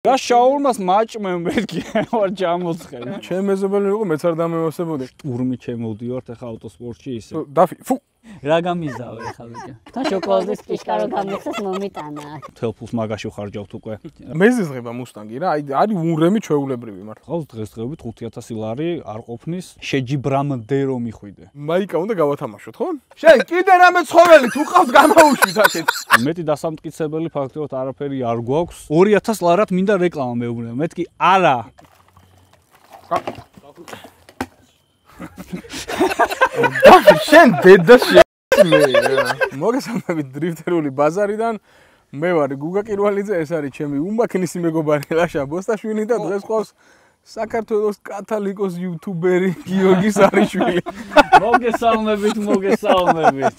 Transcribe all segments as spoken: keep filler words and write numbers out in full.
რა შაურმას მაჭმენ მეთქი ვარ ჯამოცხელი. ჩემ მეზობელი იყო მეც არ დამევასებოდი. ტურმი ჩემოვდივართ ახლა ავტოსპორტში ისე. დაფი, ფუ. რა გამიზავე ხა ბიჭო. და შოკოლადის კიშკა რო გამიხსეს მომიტანა. თელფულს მაგაში ვხარჯავთ უკვე. მეზიზღება მუსტანგი რა, აი არის უნრემი ჩვეულებრივი მართლა. ხავს დღესდღეობით ხუთი ათასი ლარი არ ყოფნის, შეჯიბრამდე რომ მიხვიდე. მაიკა უნდა გავათამაშოთ, ხო? შენ კიდე რამე ცხოველი თუ ყავთ გამაუშვით აქეთ. მეტი დასამტკიცებელი ფაქტობრივად არაფერი არ გვაქვს. ორი ათას ლარად მინდა რეკლამა მეუბნება. მეთქი არა. შენ დედა მე მოგესალმებით დრიფტერული ბაზარიდან მე ვარ გუგა კირვალიძე ეს არის ჩემი უმაქნისი მეგობარი ლაშა ბოსტაშვილი და დღეს ყავს საქართველოს კათალიკოს იუთუბერი გიორგი სარიშვილი მოგესალმებით მოგესალმებით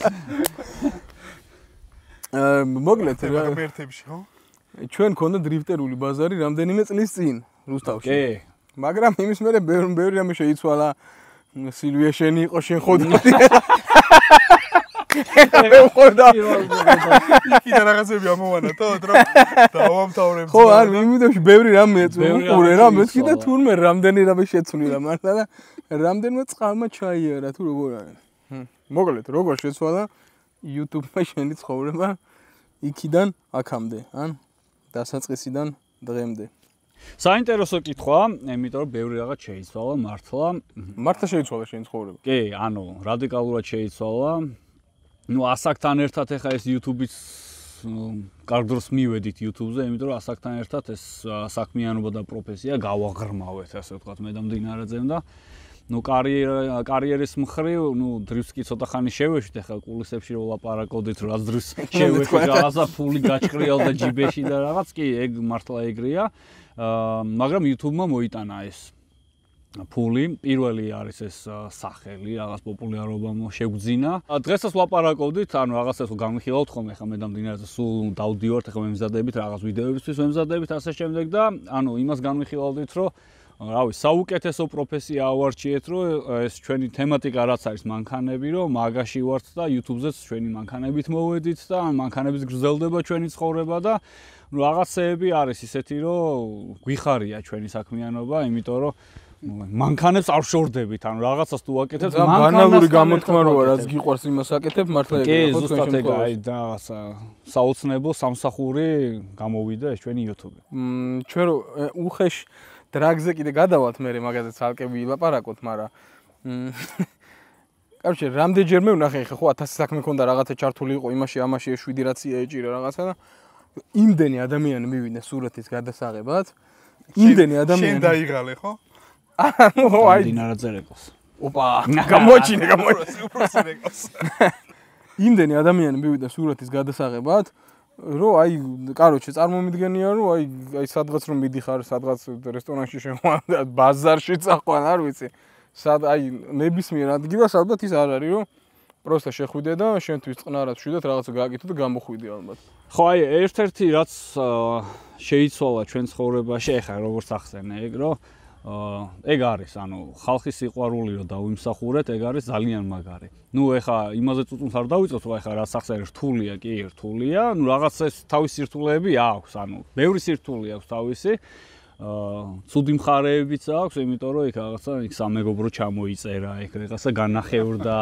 აა მოგლეთ რა ერთებში ხო ჩვენ ქონდა დრიფტერული ბაზარი რამდენიმე წლის წინ რუსთავში კი მაგრამ იმის მერე ბევრი ბევრი რამე შეიცვალა სილვია შენი იყო შენ ხოდმოდი მე ხოდა კიდე რაღაცები ამოვანა თოთ რა დავამთავრებ ხო არ მიმიდებში ბევრი რამე უყურე რა მე კიდე თურმე რამდენი რამე შეცვლილა მართლა და რამდენმა წყალმა ჩაიარა თუ როგორ არის მოგლეთ როგორ შეცვალა YouTube-მა შენი ცხოვრება იქიდან აქამდე ან დასაწყისიდან დღემდე საინტერესო კითხვა, იმიტომ რომ ბევრი რაღაც შეიცვალა მართლა. მართლა შეიცვალა შენი ცხოვრება. კი, ანუ რადიკალურად შეიცვალა. ნუ ასაკთან ერთად ეხა ეს YouTube-იც კარგ დროს მივედით YouTube-ზე, იმიტომ რომ ასაკთან ერთად ეს საქმიანობა და პროფესია გავაღრმავეთ, ასე ვთქვათ, მე და მდინარეძემ და ნუ კარიერა კარიერის მხრივ, ნუ დრიფტს კი ცოტა ხანი შევეშვით, ეხა კულისებში რო ლაპარაკობდით, რაც დრიფტს შევეშვით, რაღაცა ფული გაჭრიალდა ჯიბეში და რაღაც კი, ეგ მართლა ეგრეა. აა მაგრამ YouTube-მა მოიტანა ეს ფული, პირველი არის ეს სახელი, რაღაც პოპულარობა შეგვძინა. დღესაც ვლაპარაკობდით, ანუ რაღაცას გამიხილავთ ხოლმე, ხა მე და მდინარეზე სულ დავდივართ, ხა მემზადებით, რაღაც ვიდეოებისთვის მემზადებით, ასე შემდეგ და ანუ იმას გამიხილავდით, რომ რავი, საუკეთესო პროფესია ავარჩიეთ, რომ ეს ჩვენი თემატიკა რაც არის მანქანები, რომ მაგაში ვართ და YouTube-ზეც ჩვენი მანქანებით მოვედით და მანქანების გრძელდება ჩვენი ცხოვრება და რაღაცეები არის ისეთი, რომ გვიხარია ჩვენი საქმიანობა, იმიტომ რომ მანქანებს არ შორდებით, ანუ რაღაცას თუ ვაკეთებთ, მანქანური გამოთქმა როა, რაც გიყვარს იმას აკეთებ, მართლა ეგრე ხო, ზუსტად ეგ აი და საოცნებო სამსახური გამოვიდა ეს ჩვენი YouTube. მ ჩვენ რო უხეშ დრაგზე კიდე გადავალთ მე მაგაზე ცალკე ვილაპარაკოთ, მაგრამ კაროჩე, რამდენჯერმე ვნახე ხო ათასი საქმე ქონდა რაღაცა ჩართული იყო იმაში, ამაში შვიდი რაცია ეჭირა რაღაცა და იმდენი ადამიანი მივიდნენ სურათის გადასაღებად. იმდენი ადამიანი. შენ დაიღალე ხო? ხო, აი დინარაძერეკოს. ოპა, გამოჩინე, გამოჩინე. უპროსერეკოს. იმდენი ადამიანი მივიდნენ სურათის გადასაღებად, რომ აი, კაროჩე, წარმომიდგენია, რომ აი, აი სადღაც რომ მიდიხარ, სადღაც რესტორანში შეხვან, ბაზარში წაყვან, არ ვიცი. სად აი ნებისმიერ ადგილას ალბათ ის არ არის, რომ პროსტა შეხვიდე და შენთვის წყნარად შვიდად რაღაცა გააკეთო და გამოხვიდე ალბათ. ხო, აი, ერთ-ერთი რაც შეიცვალა ჩვენ ცხოვრებაში, ეხლა როგორც ახსენე, ეგ რომ ეგ არის, ანუ ხალხის სიყვარული რომ დავიმსახურეთ, ეგ არის ძალიან მაგარი. ნუ ეხლა იმაზე წუწუნს არ დავიწყოთ, რომ ეხლა რაც ახსენე რთულია, კი, რთულია, ნუ რაღაც ეს თავისი სირთულეები აქვს, ანუ ბევრი სირთულე აქვს თავისი. აა ცუდი მხარეებიც აქვს, იმიტომ რომ იქ რაღაცა იქ სამეგობრო ჩამოიწერა, იქ რაღაცა განახევრდა,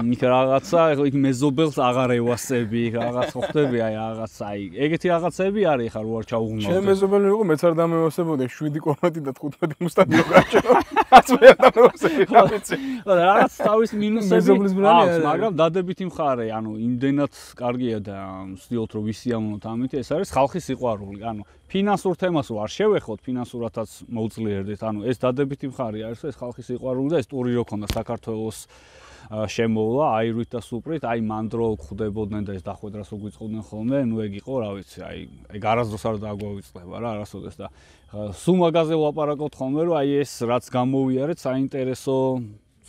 იქ რაღაცა იქ მეზობელს აღარ ევასები, იქ რაღაც ხვდები, აი რაღაცა, აი ეგეთი რაღაცები არის ხარ უარ ჩაუღმავდე. ჩემ მეზობელი იყო, მეც არ დამევასებოდი, შვიდი კომეტი და თხუთმეტი მუსტანგი გაჩვენა. აც მე არ დამევასებდი, რა ვიცი. რაღაც თავის მინუსები აქვს, მაგრამ დადებითი მხარე, ანუ იმდენად კარგია და ვცდილობთ რომ ვისიამოვნოთ ამით, ეს არის ხალხის სიყვარული, ანუ ფინანსურ თემას არ შევეხოთ, ფინანსურათაც მოუძლიერდით, ანუ ეს დადებითი მხარე არის, ეს ხალხის სიყვარული და ეს ტური რო ქონდა საქართველოს შემოვლა, აირვით და სუპრით, აი მანდრო ხვდებოდნენ და ეს დახვედრას რო გვიწყობდნენ ხოლმე, ნუ ეგ იყო, რა ვიცი, აი ეგ არასდროს არ დაგვავიწყდება რა, არასოდეს და სულ მაგაზე ვლაპარაკობთ ხოლმე, რომ აი ეს რაც გამოვიარეთ, საინტერესო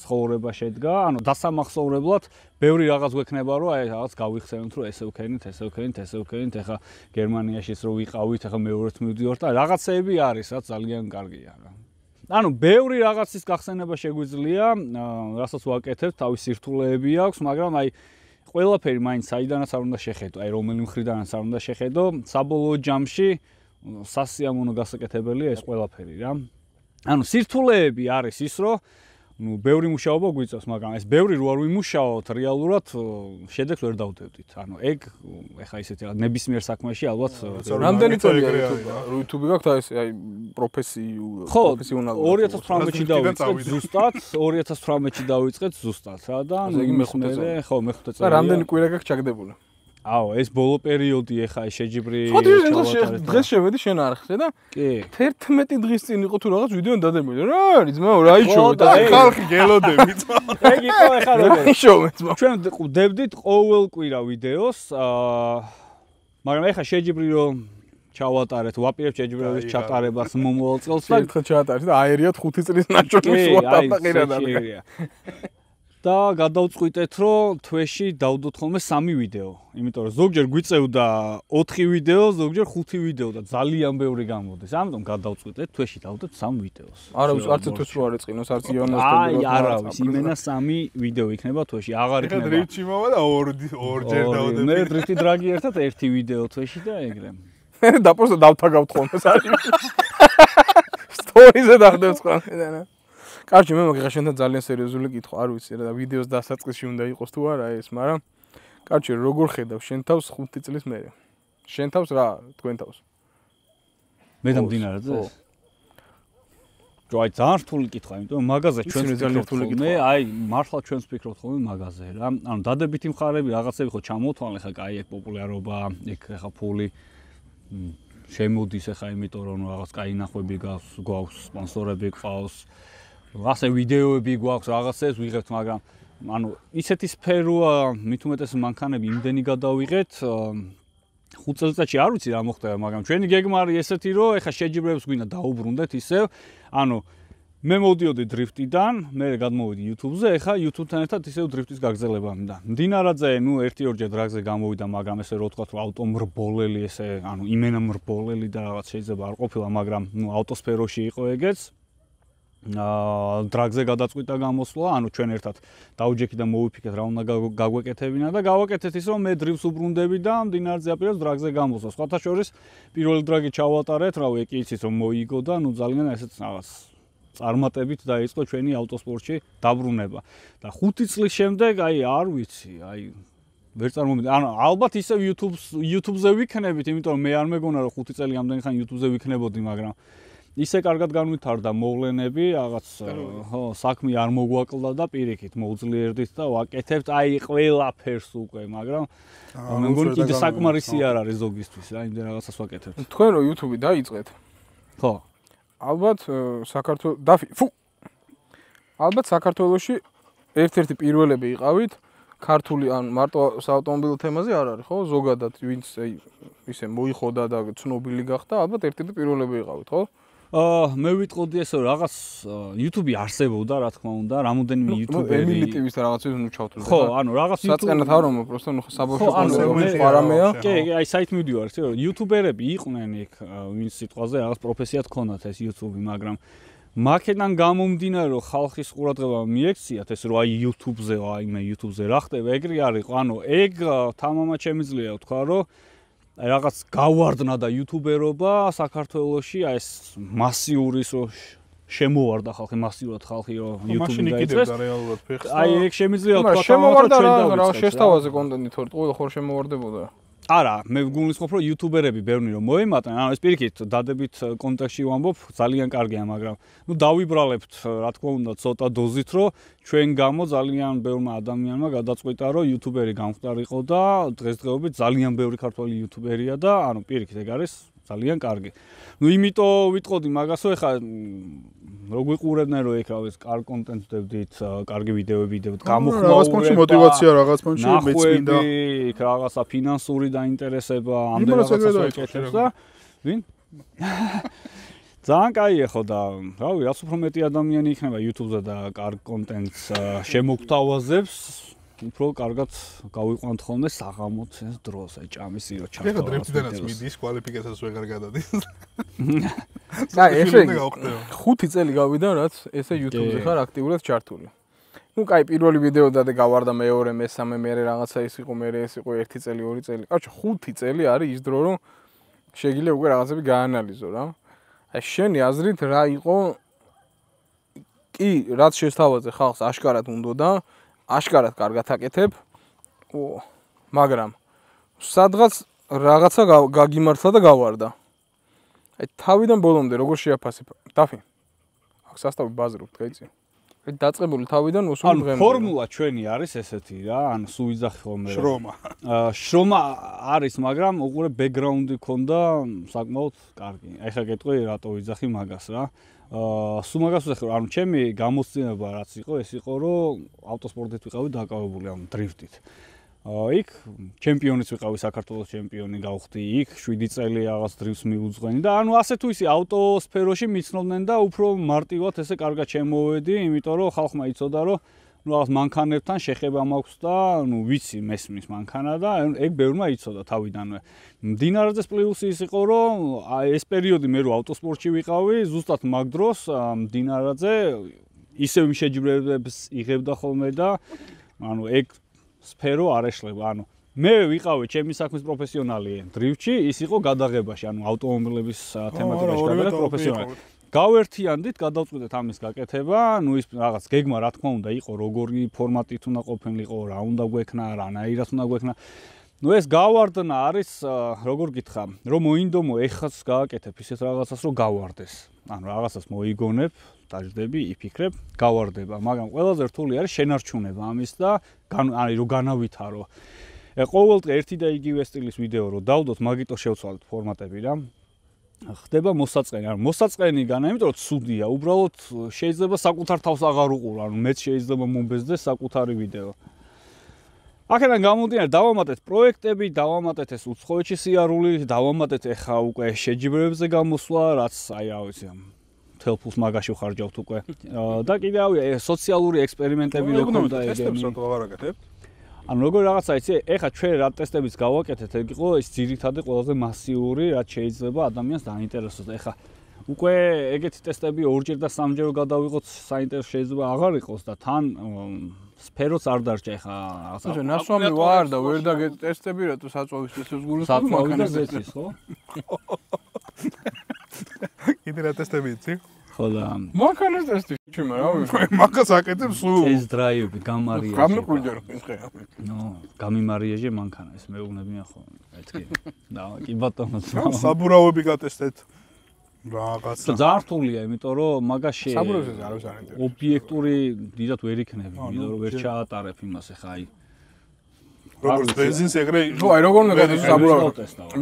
ცხოვრება შედგა, ანუ დასამახსოვრებლად ბევრი რაღაც გვექნება, რომ აი რაღაც გავიხსენოთ, რომ ესე ვქენით, ესე ვქენით, ესე ვქენით, ეხა გერმანიაშიც რო ვიყავით, ეხა მეორეც მივდივართ და რაღაცეები არის, რაც ძალიან კარგია რა. ანუ ბევრი რაღაცის გახსენება შეგვიძლია, რასაც ვაკეთებთ, თავის სირთულეები აქვს, მაგრამ აი ყველაფერი მაინც საიდანაც არ უნდა შეხედო, აი რომელი მხრიდანაც არ უნდა შეხედო, საბოლოო ჯამში სასიამოვნო გასაკეთებელია ეს ყველაფერი რა. ანუ სირთულეები არის ის, რომ ну, ბევრი მუშაობა გვიწევს, მაგრამ ეს ბევრი რო არ ვიმუშაოთ, რეალურად შედეგს ვერ დავდევდით. ანუ ეგ ეხა ისეთი რა ნებისმიერ საქმეში ალბათ რამდენი წელია YouTube-ი გაქვთ აი აი პროფესიულ პროფესიონალური ორი ათას თვრამეტში დავიწყეთ ზუსტად, ორი ათას თვრამეტში დავიწყეთ ზუსტად რა და მეხუთე ხო მეხუთე წელია. და რამდენი კვირა გაქვს ჩაგდებული? აო, ეს ბოლო პერიოდი ეხა ეს შეჯიბრი ჩავატარეთ. დღეს შევედი შენ არხზე და კი თერთმეტი დღის წინ იყო თუ რაღაც ვიდეო დადებული. რა არის ძმაო, რა იშოვეთ? ხალხი გელოდები ძმაო. ეგ იყო ეხა რა იშოვეთ ძმაო? ჩვენ ვდებდით ყოველ კვირა ვიდეოს, აა მაგრამ ეხა შეჯიბრი რომ ჩავატარეთ, ვაპირებ შეჯიბრების ჩატარებას მომავალ წელს და ერთხელ ჩაატარეთ და აერიათ ხუთი წლის ნაჭრომის ვატა ყირადად. და გადავწყვიტეთ, რომ თვეში დავდოთ ხოლმე სამი ვიდეო. იმიტომ რომ ზოგჯერ გვიწევდა ოთხი ვიდეო, ზოგჯერ ხუთი ვიდეო და ძალიან ბევრი გამოდის. ამიტომ გადავწყვიტეთ თვეში დავდოთ სამ ვიდეოს. არავის არც თვეში რო არ ეწყინოს, არც იონას და აი, არავის, იმენა სამი ვიდეო იქნება თვეში. აღარ იქნება. ეხლა დრიფტში მოვა და ორ ორჯერ დავდები. მე დრიფტი დრაგი ერთად ერთი ვიდეო თვეში და ეგრე. და პროსტა დავთაგავთ ხოლმე საერთოდ. სტორიზე დავდევს ხოლმე. კარგი, მე მოგიღე შენთან ძალიან სერიოზული კითხვა, არ ვიცი რა და ვიდეოს დასაწყისში უნდა იყოს თუ არა ეს, მაგრამ კარგი, როგორ ხედავ შენ თავს ხუთი წლის მერე? შენ თავს რა, თქვენ თავს? მე და მდინარეზე? ჯოი ძალიან რთული კითხვა, იმიტომ რომ მაგაზე ჩვენს ძალიან რთული კითხვა. აი, მართლა ჩვენს ფიქრობთ ხოლმე მაგაზე რა. ანუ დადებითი მხარეები რაღაცები ხო ჩამოვთვალე ხა, კაი, ეგ პოპულარობა, ეგ ხა ფული შემოდის ხა, იმიტომ რომ რაღაც კაი ნახვები გვაქვს, გვაქვს სპონსორები ყავს. ასე ვიდეოები გვაქვს, რაღაცებს ვიღებთ, მაგრამ ანუ ისეთი სფეროა, მით უმეტეს მანქანები იმდენი გადავიღეთ, ხუთ წელიწადში არ ვიცი რა მოხდება, მაგრამ ჩვენი გეგმა არის ესეთი, რომ ეხა შეჯიბრებს გვინდა დაუბრუნდეთ ისევ, ანუ მე მოვდიოდი დრიფტიდან, მე გადმოვიდი YouTube-ზე, ეხა YouTube-თან ერთად ისევ დრიფტის გაგრძელება მინდა. მდინარაძე, ნუ ერთი ორჯერ დრაგზე გამოვიდა, მაგრამ ესე რო ვთქვათ, რომ ავტომრბოლელი ესე, ანუ იმენა მრბოლელი და რაღაც შეიძლება არ ყოფილა, მაგრამ ნუ ავტოსფეროში იყო ეგეც. აა დრაგზე გადაწყვიტა გამოსვლა, ანუ ჩვენ ერთად დაუჯექი და მოვიფიქრეთ რა უნდა გაგვეკეთებინა და გავაკეთეთ ის რომ მე დრიფს უბრუნდები და მდინარეზე აპირებს დრაგზე გამოსვლა. სხვათა შორის პირველი დრაგი ჩავატარეთ, რავი, ეკი იცით რომ მოიგო და ნუ ძალიან ესეც რაღაც წარმატებით დაიწყო ჩვენი ავტოსპორტში დაბრუნება. და ხუთი წლის შემდეგ, აი არ ვიცი, აი ვერ წარმოვიდგინე. ანუ ალბათ ისევ YouTube-ს YouTube-ზე ვიქნებით, იმიტომ რომ მე არ მეგონა რომ ხუთი წელი ამდენი ხანი YouTube-ზე ვიქნებოდი, მაგრამ ისე კარგად განვითარდა მოვლენები, რაღაც ხო, საქმე არ მოგვაკლდა და პირიქით მოვძლიერდით და ვაკეთებთ აი ყველაფერს უკვე, მაგრამ მე მგონი კიდე საკმარისი არ არის ზოგისთვის, რა, იმდენ რაღაცას ვაკეთებთ. თქვენ რო YouTube-ი დაიწყეთ? ხო. ალბათ საქართველოს დაფი, ფუ. ალბათ საქართველოში ერთ-ერთი პირველები იყავით ქართული ან მარტო საავტომობილო თემაზე არ არის, ხო? ზოგადად ვინც აი ისე მოიხოდა და ცნობილი გახდა, ალბათ ერთ-ერთი პირველები იყავით, ხო? აა მე ვიტყოდი ესე რაღაც YouTube-ი არსებობდა, რა თქმა უნდა, რამოდენიმე YouTuber-ი. ემილი ტი-ვის და რაღაცებს ნუ ჩავთვლით. ხო, ანუ რაღაც YouTube-ი. საწყენად არ რომ პროსტო ნუ საბავშვო კონტენტი არამეა. კი, აი საით მივდივარ, ხო, YouTuber-ები იყვნენ იქ, ვინც სიტყვაზე რაღაც პროფესიად ქონდათ ეს YouTube-ი, მაგრამ მაქედან გამომდინარე, რომ ხალხის ყურადღება მიექციათ ეს რომ აი YouTube-ზე, აი მე YouTube-ზე რა ხდება, ეგრე არ იყო. ანუ ეგ თამამად შემიძლია ვთქვა, რომ რაღაც გავარდნა და იუთუბერობა საქართველოში აი ეს მასიური შემოვარდა ხალხი, მასიურად ხალხი რომ YouTube-ი დაიწყეს. აი ეგ შემიძლია ვთქვა, შემოვარდა რა შეშთავაზე კონტენტი თორე ყველა ხარ შემოვარდებოდა. არა, მე გულისხმობ, რომ იუთუბერები ბევრი რომ მოემატნენ, ანუ ეს პირიქით დადებით კონტექსტში ვამბობ, ძალიან კარგია, მაგრამ ნუ დავიბრალებთ, რა თქმა უნდა, ცოტა დოზით, რომ ჩვენ გამო ძალიან ბევრმა ადამიანმა გადაწყვიტა, რომ იუთუბერი გამხდარიყო და დღესდღეობით ძალიან ბევრი ქართველი იუთუბერია და ანუ პირიქით ეგ არის ძალიან კარგი. ნუ იმიტომ ვიტყოდი მაგასო, ეხა რო გვიყურებდნენ, რომ ეგ რავის, კარგ კონტენტს ვდებდით, კარგი ვიდეოები ვიდეოთ, გამოხმაურება, რაღაც პონჩი мотиваცია, რაღაც პონჩი მეწმინდა, რაღაცა ფინანსური დაინტერესება, ამდენ რაღაცას ვაკეთებს და ვინ? ძალიან კაია ხო და რავი, რაც უფრო მეტი ადამიანი იქნება YouTube-ზე და კარგ კონტენტს შემოგთავაზებს, უფრო კარგად გავიყვანთ ხოლმე საღამოც ეს დროს, აი ჭამის ირო ჩავთავაზებთ. ეხლა დრიფტიდანაც მიდის, კვალიფიკაციას ვეღარ გადადის. კაი, ესე ხუთი წელი გავიდა, რაც ესე YouTube-ზე ხარ აქტიურად ჩართული. ნუ კაი, პირველი ვიდეო დადე გავარდა, მეორე, მესამე, მერე რაღაცა ის იყო, მერე ეს იყო ერთი წელი, ორი წელი. კარჩო, ხუთი წელი არის ის დრო, რომ შეგიძლია უკვე რაღაცები გაანალიზო რა. აი შენი აზრით რა იყო კი რაც შესთავაზე ხალხს აშკარად უნდა და აშკარად კარგად აკეთებ. ო მაგრამ სადღაც რაღაცა გაგიმართლა და გავარდა. აი თავიდან ბოლომდე როგორ შეაფასებ? დაფი. აქ სასტავი ბაზრობთ, გაიცი? აი დაწყებული თავიდან უსულ დღემდე. ანუ ფორმულა ჩვენი არის ესეთი რა, ანუ სულ ვიძახი ხოლმე. შრომა. აა შრომა არის, მაგრამ უყურე ბექგრაუნდი ქონდა საკმაოდ კარგი. აი ხა გეტყვი რატო ვიძახი მაგას რა. აა სულ მაგას ვიძახი, ანუ ჩემი გამოცდილება რაც იყო, ეს იყო რომ ავტოსპორტით ვიყავი დაკავებული ამ დრიფტით. იქ ჩემპიონიც ვიყავი საქართველოს ჩემპიონი გავხდი იქ შვიდი წელი რაღაც დრიფტს მიუძღვენი და ანუ ასე თუ ისე ავტოსფეროში მიცნობდნენ და უფრო მარტივად ესე კარგად შემოვედი იმიტომ რომ ხალხმა იცოდა რომ ну რაღაც მანქანებთან შეხება მაქვს და ну ვიცი მესმის მანქანა და ეგ ბევრმა იცოდა თავიდანვე. მდინარაძეს პლუსი ის იყო რომ ეს პერიოდი მე რო ავტოსპორტში ვიყავი ზუსტად მაგ დროს მდინარაძე ისევ შეჯიბრებებს იღებდა ხოლმე და ანუ ეგ სფერო არ ეშლება, ანუ მე ვიყავი ჩემი საქმის პროფესიონალი დრიფტში, ის იყო გადაღებაში, ანუ ავტომობილების თემატიკაში გადაღება პროფესიონალი. გავერთიანდით, გადავწყვიტეთ ამის გაკეთება, ну ის რაღაც გეგმა რა თქმა უნდა იყო, როგორი ფორმატით უნდა ყოფილიყო, რა უნდა გვექნა, რანაირად უნდა გვექნა. ну ეს გავარდნა არის, როგორ გითხრა, რომ მოინდომო ეხაც გააკეთებ ისეთ რაღაცას, რომ გავარდეს. ანუ რაღაცას მოიგონებ, დაждები, იფიქრებ, გავარდება, მაგრამ ყველაზე რთული არის შენარჩუნება ამის და ანუ რომ განავითარო. ყოველდღე ერთი და იგივე სტილის ვიდეო რო დავდოთ, მაგიტო შევცვალეთ ფორმატები რა. ხდება მოსაწყენი, ანუ მოსაწყენიგანა, იმიტომ რომ ცუდია, უბრალოდ შეიძლება საკუთარ თავს აღარ უყურ, ანუ მეც შეიძლება მომბეზდეს საკუთარი ვიდეო. აქედან გამომდინარე, დავამატეთ პროექტები, დავამატეთ ეს უცხოეთში სიარული, დავამატეთ ეხა უკვე შეჯიბრებებზე გამოსვლა, რაც აი რა ვიცი, მთელ ფულს მაგაში ვხარჯავთ უკვე. და კიდე ავი სოციალური ექსპერიმენტები რო ქონდა ეგენი. ანუ როგორ რაღაცა იცი, ეხა ჩვენ რა ტესტებიც გავაკეთეთ, ეგ იყო ის ძირითადად ყველაზე მასიური, რაც შეიძლება ადამიანს დაინტერესოს. ეხა უკვე ეგეთი ტესტები ორჯერ და სამჯერ გადავიღოთ, საინტერესო შეიძლება აღარ იყოს და თან სფეროც არ დარჩა ეხა რაღაცა. ნასვამი ვარ და ვერ დაგეთ ტესტები, რატო საწვავის ტესტებს გულისხმობ მანქანას ეცის, ხო? კიდე რა ტესტები იცი? ხო და მანქანას ტესტი ჩემ რა ვიცი. მაგას აკეთებ სულ. ეს დრაივები გამარიაჟე. გამიკვირდა რომ ეს ხე. ნო, გამიმარიაჟე მანქანა ეს მეუბნებიან ხო. მეთქი. და კი ბატონო. საბურავები გატესტეთ. რაღაცა. ძალიან რთულია, იმიტომ რომ მაგაში საბურავებზე არ არის არანტი. ობიექტური დიდად ვერ იქნები, იმიტომ რომ ვერ ჩაატარებ იმას ეხა აი. როგორც ბენზინს ეგრე ხო, აი როგორ უნდა გადაიწყო საბურავი.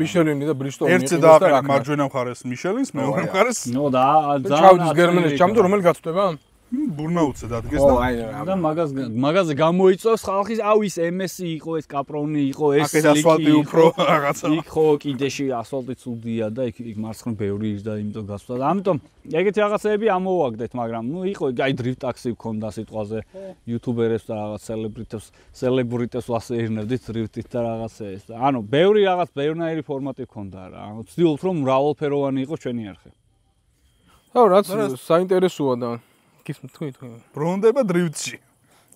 მიშელინი და ბრისტოლი ერთზე დააყენე მარჯვენა მხარეს მიშელინს, მეორე მხარეს ნო და ძალიან ჩავდის გერმანიაში, ჩამდე რომელი გაწვდება? ბურნაუტზე დადგეს ო, და აი და მაგას მაგაზე გამოიწვევს ხალხის, აუ ის ემ ესი იყო, ეს კაპრონი იყო, ეს აკეთ ასფალტი უფრო რაღაცა. იქ ხო კიდეში ასფალტი ცუდია და იქ იქ მარცხნ ბევრი ის და იმიტომ გასვლა და ამიტომ ეგეთი რაღაცეები ამოვაგდეთ, მაგრამ ნუ იყო აი დრიფტ ტაქსი გქონდა სიტყვაზე იუთუბერებს და რაღაც სელებრიტებს, სელებრიტებს ვასეირნებდით დრიფტით და რაღაცა ეს და ანუ ბევრი რაღაც ბევრნაირი ფორმატი გქონდა რა. ანუ ვცდილობთ რომ მრავალფეროვანი იყოს ჩვენი არხი. ხო, რაც საინტერესოა და გისმ თქვი თქვი. ბრონდება დრიფტში.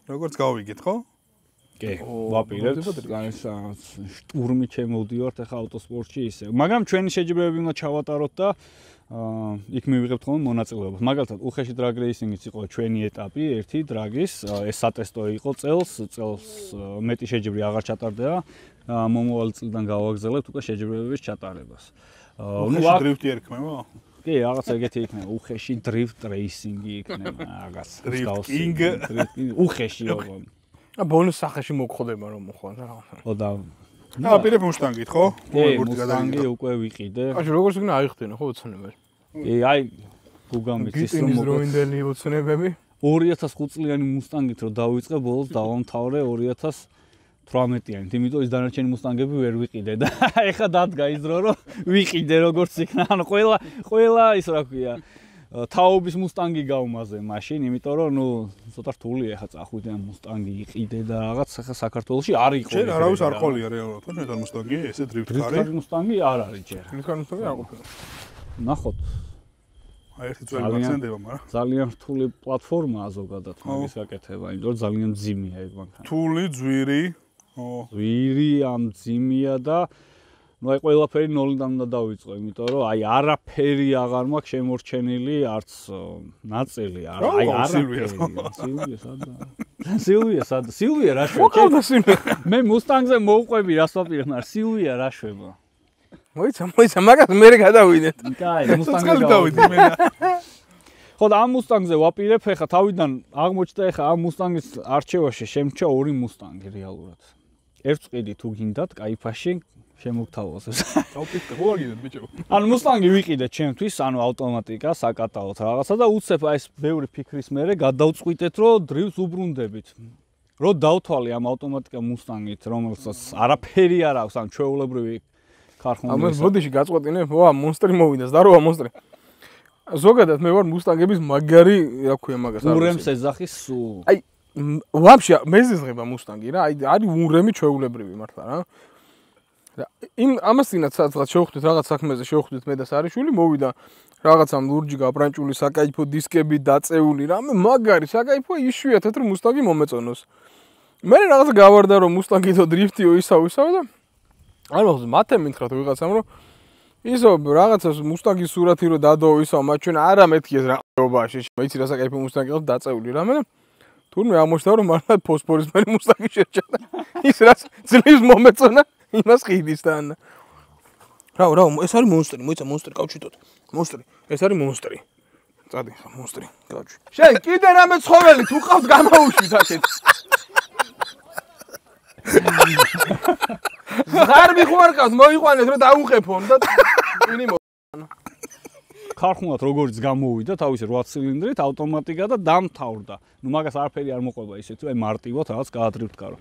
როგორც გავიგეთ, ხო? კი, ვაპირებთ. შტურმი ჩემოვდივართ ახლა ავტოსპორტში ისე. მაგრამ ჩვენი შეჯიბრებები უნდა ჩავატაროთ და იქ მივიღებთ ხოლმე მონაწილეობას. მაგალითად, უხეში დრაგ რეისინგიც იყო ჩვენი ეტაპი, ერთი დრაგის, ეს სატესტო იყო წელს, წელს მეტი შეჯიბრი აღარ ჩატარდება. მომავალ წლიდან გავაგზავნებთ უკვე შეჯიბრებების ჩატარებას. ნუ დრიფტი ერქმევა? კი, რაღაც ეგეთი იქნება, უხეში დრიფტ რეისინგი იქნება, რაღაც. დრიფტინგ, უხეში ოღონ. ა ბონუს სახეში მოგხდება რომ მოხვალ რა. ხო და აა პირებ მუშტანგით, ხო? კი, მუშტანგი უკვე ვიყიდე. აი როგორც იქნა აიხდენა ხო ოცნებაში. კი, აი გუგამიცის რომ დროინდელი ოცნებები. ორი ათას ხუთი წლიანი მუსტანგით რომ დავიწყე, ბოლოს დავამთავრე ორი ათას თვრამეტიანით, იმიტომ ის დანარჩენი მუსტანგები ვერ ვიყიდე და ეხა დადგა ის დრო რომ ვიყიდე როგორც იქნა. ანუ ყველა ყველა ის რა ქვია, თაობის მუსტანგი გავმაზე მაშინ, იმიტომ რომ ნუ ცოტა რთულია ეხა წახვიდე ამ მუსტანგი იყიდე და რაღაც ეხა საქართველოში არ იყო. ჯერ არავის არ ყოლია რეალურად, ხო ჩვენთან მუსტანგი, ესე დრიფტკარი. დრიფტკარი მუსტანგი არ არის ჯერ. დრიფტკარი მუსტანგი არ ყოფილა. ნახოთ. აი ერთი ძველი მაქცენდება, მაგრამ ძალიან რთული პლატფორმაა ზოგადად მაგის გაკეთება, იმიტომ რომ ძალიან მძიმეა ეგ მანქანა. რთული, ძვირი, ო, ძვირი, ამ მძიმეა და ნუ აი ყველაფერი ნოლიდან უნდა დავიწყო, იმიტომ რომ აი არაფერი აღარ მაქვს შემორჩენილი, არც ნაწილი, აი არაფერი. სილვია სადა? სილვია სადა? სილვია რა შვება? მე მუსტანგზე მოვყვები რას ვაპირებ, სილვია რა შვება? მოიცა, მოიცა, მაგას მე გადავიდეთ. კაი, მუსტანგზე დავიდი მე. ხო და ამ მუსტანგზე ვაპირებ, ეხა თავიდან აღმოჩნდა ეხა ამ მუსტანგის არჩევაში შემჩა ორი მუსტანგი რეალურად. ერთ წიდი თუ გინდათ, кайფაში შემოგთავაზო. დავფიქრე, ხო აგიდეთ ბიჭო. ანუ მუსტანგი ვიყიდეთ ჩემთვის, ანუ ავტომატიკა, საკატაოდ რაღაცა და უცებ აი ეს ბევრი ფიქრის მერე გადავწყვიტეთ, რომ დრივს უბრუნდებით. რომ დავთვალე ამ ავტომატიკა მუსტანგით, რომელსაც არაფერი არ აქვს, ან ჩვეულებრივი ქარხნული. ამას ბოდიში გაწყვეტინე, ვა, მონსტრი მოვიდა, ზდაროა მონსტრი. ზოგადად მე ვარ მუსტანგების მაგარი, რა ქვია მაგას. ურემს ეძახის სულ. აი, ვაფშე მეზიზღება მუსტანგი რა, აი არის ურემი ჩვეულებრივი მართლა რა. და იმ ამასთანაც სადღაც შევხვდით რაღაც საქმეზე შევხვდით მე და სარიშვილი მოვიდა რაღაცამ ლურჯი გაბრანჭული საკაიფო დისკები დაწეული რამე მაგარი საკაიფო იშვიათად რომ მუსტანგი მომეწონოს. მე რაღაცა გავარდა რომ მუსტანგითო დრიფტიო ისავ ისავ და არ მოხდა მათე მითხრათ ვიღაცამ რომ ისო რაღაცას მუსტანგის სურათი რო დადო ისავ მათ ჩვენ არა მეთქიეს რაყობაში მეცი რა საკაიფო მუსტანგი ყავს დაწეული რამე და თურმე ამოშთა რომ მართლა ფოსფორისფერი მუსტანგი შეჭადა ის რაც ძლივს მომეწონა იმას ყიდისთან რა რა ეს არის მონსტრი მოიცა მონსტრი კავჩიტოთ მონსტრი ეს არის მონსტრი წადი მონსტრი კავჩი შენ კიდე რამე ცხოველი თუ ყავთ გამაუშვით აქეთ ზღარბი ხო არ ყავთ მოიყვანეთ რომ დაუყეფონ და ტვინი მო ქარხნულად როგორც გამოვიდა თავისი რვა ცილინდრით ავტომატიკა და დამთავრდა. ნუ მაგას არაფერი არ მოყვება ისეთი, აი მარტივად რაღაც გაადრიფტკარო.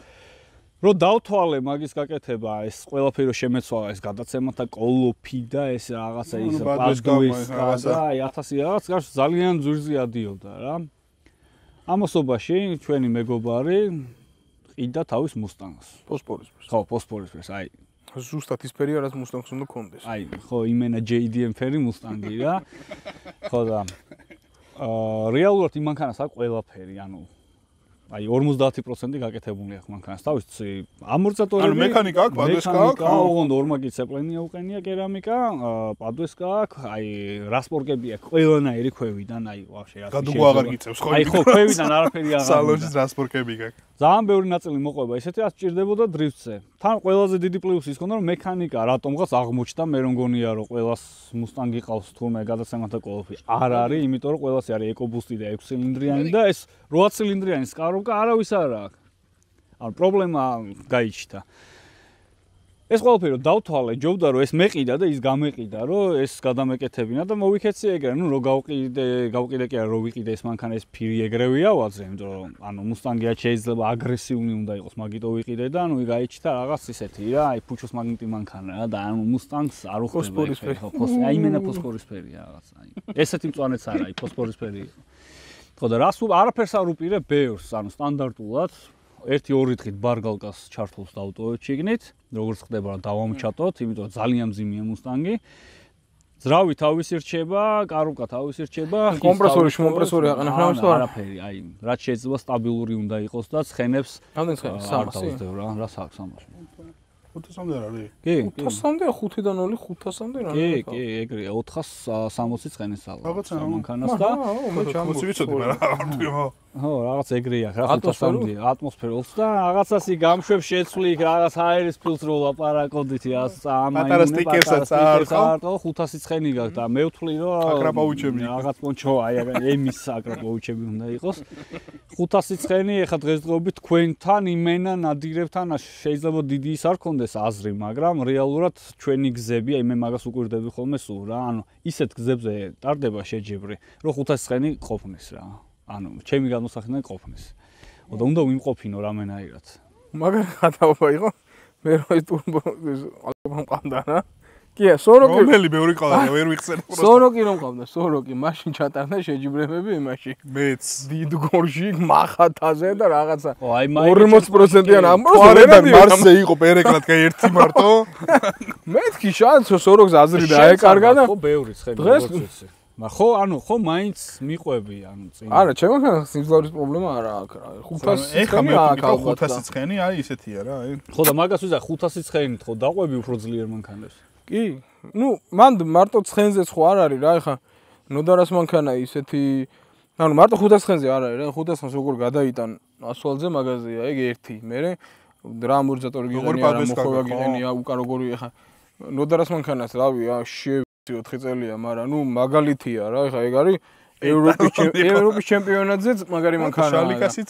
რომ დავთვალე მაგის გაკეთება, ეს ყველაფერი რომ შემეცვალა, ეს გადაცემათა კოლოფი და ეს რაღაცა ის პასგუის და აი ათასი რაღაც გარს ძალიან ძვირზე ადიოდა რა. ამასობაში ჩვენი მეგობარი ყიდა თავის მუსტანგს. ფოსფორისფერს. ხო, ფოსფორისფერს, აი ზუსტად ის ფერი რაც მუსტანგს უნდა კონდეს. აი, ხო, იმენა ჯეი დი ემ ფერი მუსტანგი რა. ხო და აა რეალურად იმ მანქანას აქვს ყველაფერი, ანუ აი ორმოცდაათი პროცენტი გაკეთებული აქვს მანქანას. თავისი ამორტიზატორები, ანუ მექანიკა აქვს, პადვესკა აქვს, ოღონდ ორმაგი ცეპლენი უყენია კერამიკა, პადვესკა აქვს, აი რასპორკები აქვს ყველანაირი ქვევიდან, აი ვაფშე რა. გადუგო აღარ გიწევს ხო? აი ხო, ქვევიდან არაფერი აღარ. სალონში რასპორკები გაქვს. ძალიან ბევრი ნაწილი მოყვება ისეთი, რაც ჭირდებოდა დრიფტზე. თან ყველაზე დიდი პლუსი ის ქონდა, რომ მექანიკა რატომღაც აღმოჩნდა, მე რომ გონია, რომ ყველას მუსტანგი ყავს თურმე გადაცემათა კოლოფი. არ არის, იმიტომ რომ ყველას არის ეკობუსტი და ექვს ცილინდრიანი და ეს რვა ცილინდრიანი სკაროვკა არავის არ აქვს. ანუ პრობლემა გაიჩნდა. ეს ყველაფერი რომ დავთვალე, ჯობდა რომ ეს მეყიდა და ის გამეყიდა, რომ ეს გადამეკეთებინა და მოვიქეცი ეგრე, ნუ რო გავყიდე, გავყიდე კი არა, რო ვიყიდე ეს მანქანა ეს ფირი ეგრევია ვაძე, იმიტომ რომ ანუ მუსტანგია შეიძლება აგრესიული უნდა იყოს, მაგიტო ვიყიდე და ნუ გაიჩნდა რაღაც ისეთი რა, აი ფუჩოს მაგნიტი მანქანა რა და ანუ მუსტანგს არ უხდება ხო, ფოსფორისფერი, აი იმენა ფოსფორისფერია რაღაც, აი. ესეთი მწვანეც არა, აი ფოსფორისფერი იყო. ხო და რას არაფერს არ უპირებ ბევრს, ანუ სტანდარტულად ერთი ორი დღით ბარგალკას ჩართულს დავტოვეთ შიგნით, როგორც ხდება რა დავამჩატოთ, იმიტომ რომ ძალიან მძიმეა მუსტანგი. ძრავი თავისი რჩება, კარუკა თავისი რჩება, კომპრესორი, კომპრესორი აყენებს რა არაფერი, აი, რაც შეიძლება სტაბილური უნდა იყოს და ცხენებს რამდენი ცხენი? სამასი რა, რა აქვს სამასი. ხუთასამდე არ არის? კი, ხუთასამდე, ხუთიდან ნული ხუთასამდე რა. კი, კი, ეგრეა, ოთხას სამოცი ცხენის სალა. რაღაცა მანქანას და მე ჩამოწი ვიცოდი, მაგრამ ხო. ხო, რაღაც ეგრეა, რა ხუთასამდე ატმოსფეროს და რაღაცასი გამშვებ შეცვლი, რაღაც აერის ფილტრო ლაპარაკობდით, ამაინე პატარა სტიკერსაც არ ხო, ხუთასი ცხენი გაქვს და მე ვთვლი რომ აკრაპაუჩები. რაღაც პონჩო, აი ემის აკრაპაუჩები უნდა იყოს. ხუთასი ცხენი, ეხა დღესდღეობით თქვენთან იმენა ნადირებთან შეიძლება დიდი ის არ ქონდეს აზრი, მაგრამ რეალურად ჩვენი გზები, აი მე მაგას უკვირდები ხოლმე სულ რა, ანუ ისეთ გზებზე ტარდება შეჯიბრი, რომ ხუთასი ცხენი ყოფნის რა. ანუ ჩემი განმოსახედიდან ყოფნის. და უნდა ვიმყოფინო რამენაირად. მაგარი ხათაობა იყო. მე რო ეს ტურბო ალბათ მყავდა რა. კი, სოროკი. რომელი ბევრი ყავდა, ვერ ვიხსენე პროსტა. სოროკი რომ ყავდა, სოროკი, მაშინ ჩატარდა შეჯიბრებები იმაში. მეც დიდ გორში მახათაზე და რაღაცა. ო, აი ორმოცი პროცენტიან ამბობს. ვარედან მარსზე იყო პერეკლად კაი ერთი მარტო. მეთქი შანსო სოროკს აზრი დაეკარგა და ხო ბევრი ცხენი დღეს მაგრამ ხო, ანუ ხო მაინც მიყვები, ანუ წინ. არა, ჩემგან სიმძლავრის პრობლემა არა აქვს რა. ხუთასი ეხა ცხენი მე აქვს ვთქვი ალბათ. ხუთასი ცხენი, აი ისეთია რა, აი. ხო და მაგას ვიზა ხუთასი ცხენით ხო დაყვები უფრო ძლიერ მანქანებს. კი, ну, მან მარტო ცხენზეც ხო არ არის რა, ეხა ნოდარას მანქანა ისეთი, ანუ მარტო ხუთასი ცხენზე არ არის რა, ხუთასი ცხენს როგორ გადაიტან ასფალტზე მაგაზია, ეგ ერთი, მე რა ამორტიზატორი გიყენია, რა მოხოვა გიყენია, უკან როგორი ეხა ნოდარას მანქანას რავი, შევიცი ოთხი წელია, მაგრამ ნუ მაგალითია რა, ეხა ეგ არის ევროპის ევროპის ჩემპიონატზეც მაგარი მანქანაა. შალიკასიც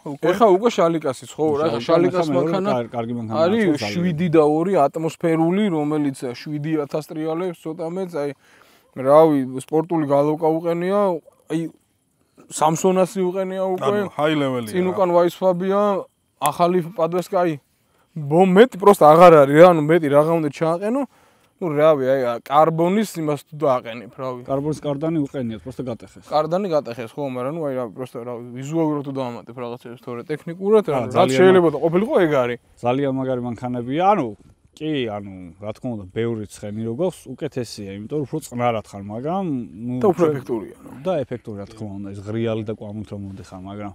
ეხა უკვე შალიკასიც ხო რა, ეხა შალიკას მანქანა კარგი მანქანა არის შვიდი და ორი ატმოსფერული, რომელიც შვიდი ათას ტრიალებს ცოტა მეც, აი რავი, სპორტული გალოკა უყენია, აი სამსონასი უყენია უკვე. ანუ ჰაი ლეველია. წინ უკან ვაისფაბია, ახალი პადვესკაი. ბომ მეტი პროსტა აღარ არის რა, ანუ მეტი რაღა უნდა ჩააყენო. ну რავი, აი კარბონის იმას თუ დააყენებ, რავი. კარბონის კარდანი უყენიათ, просто გატეხეს. კარდანი გატეხეს ხო, მაგრამ ну აი რავი, просто რავი, ვიზუალურად თუ დავამატებ რაღაცებს, თორე ტექნიკურად, რაც შეიძლება და ყოფილიყო ეგ არის. ძალიან მაგარი მანქანებია, ანუ კი, ანუ რა თქმა უნდა, ბევრი ცხენი როგორც უკეთესია, იმიტომ რომ უფრო წყნარად ხარ, მაგრამ ну და უფრო ეფექტურია, ნუ. და ეფექტური რა თქმა უნდა, ეს ღრიალი და კვამით რომ მოდიხარ, მაგრამ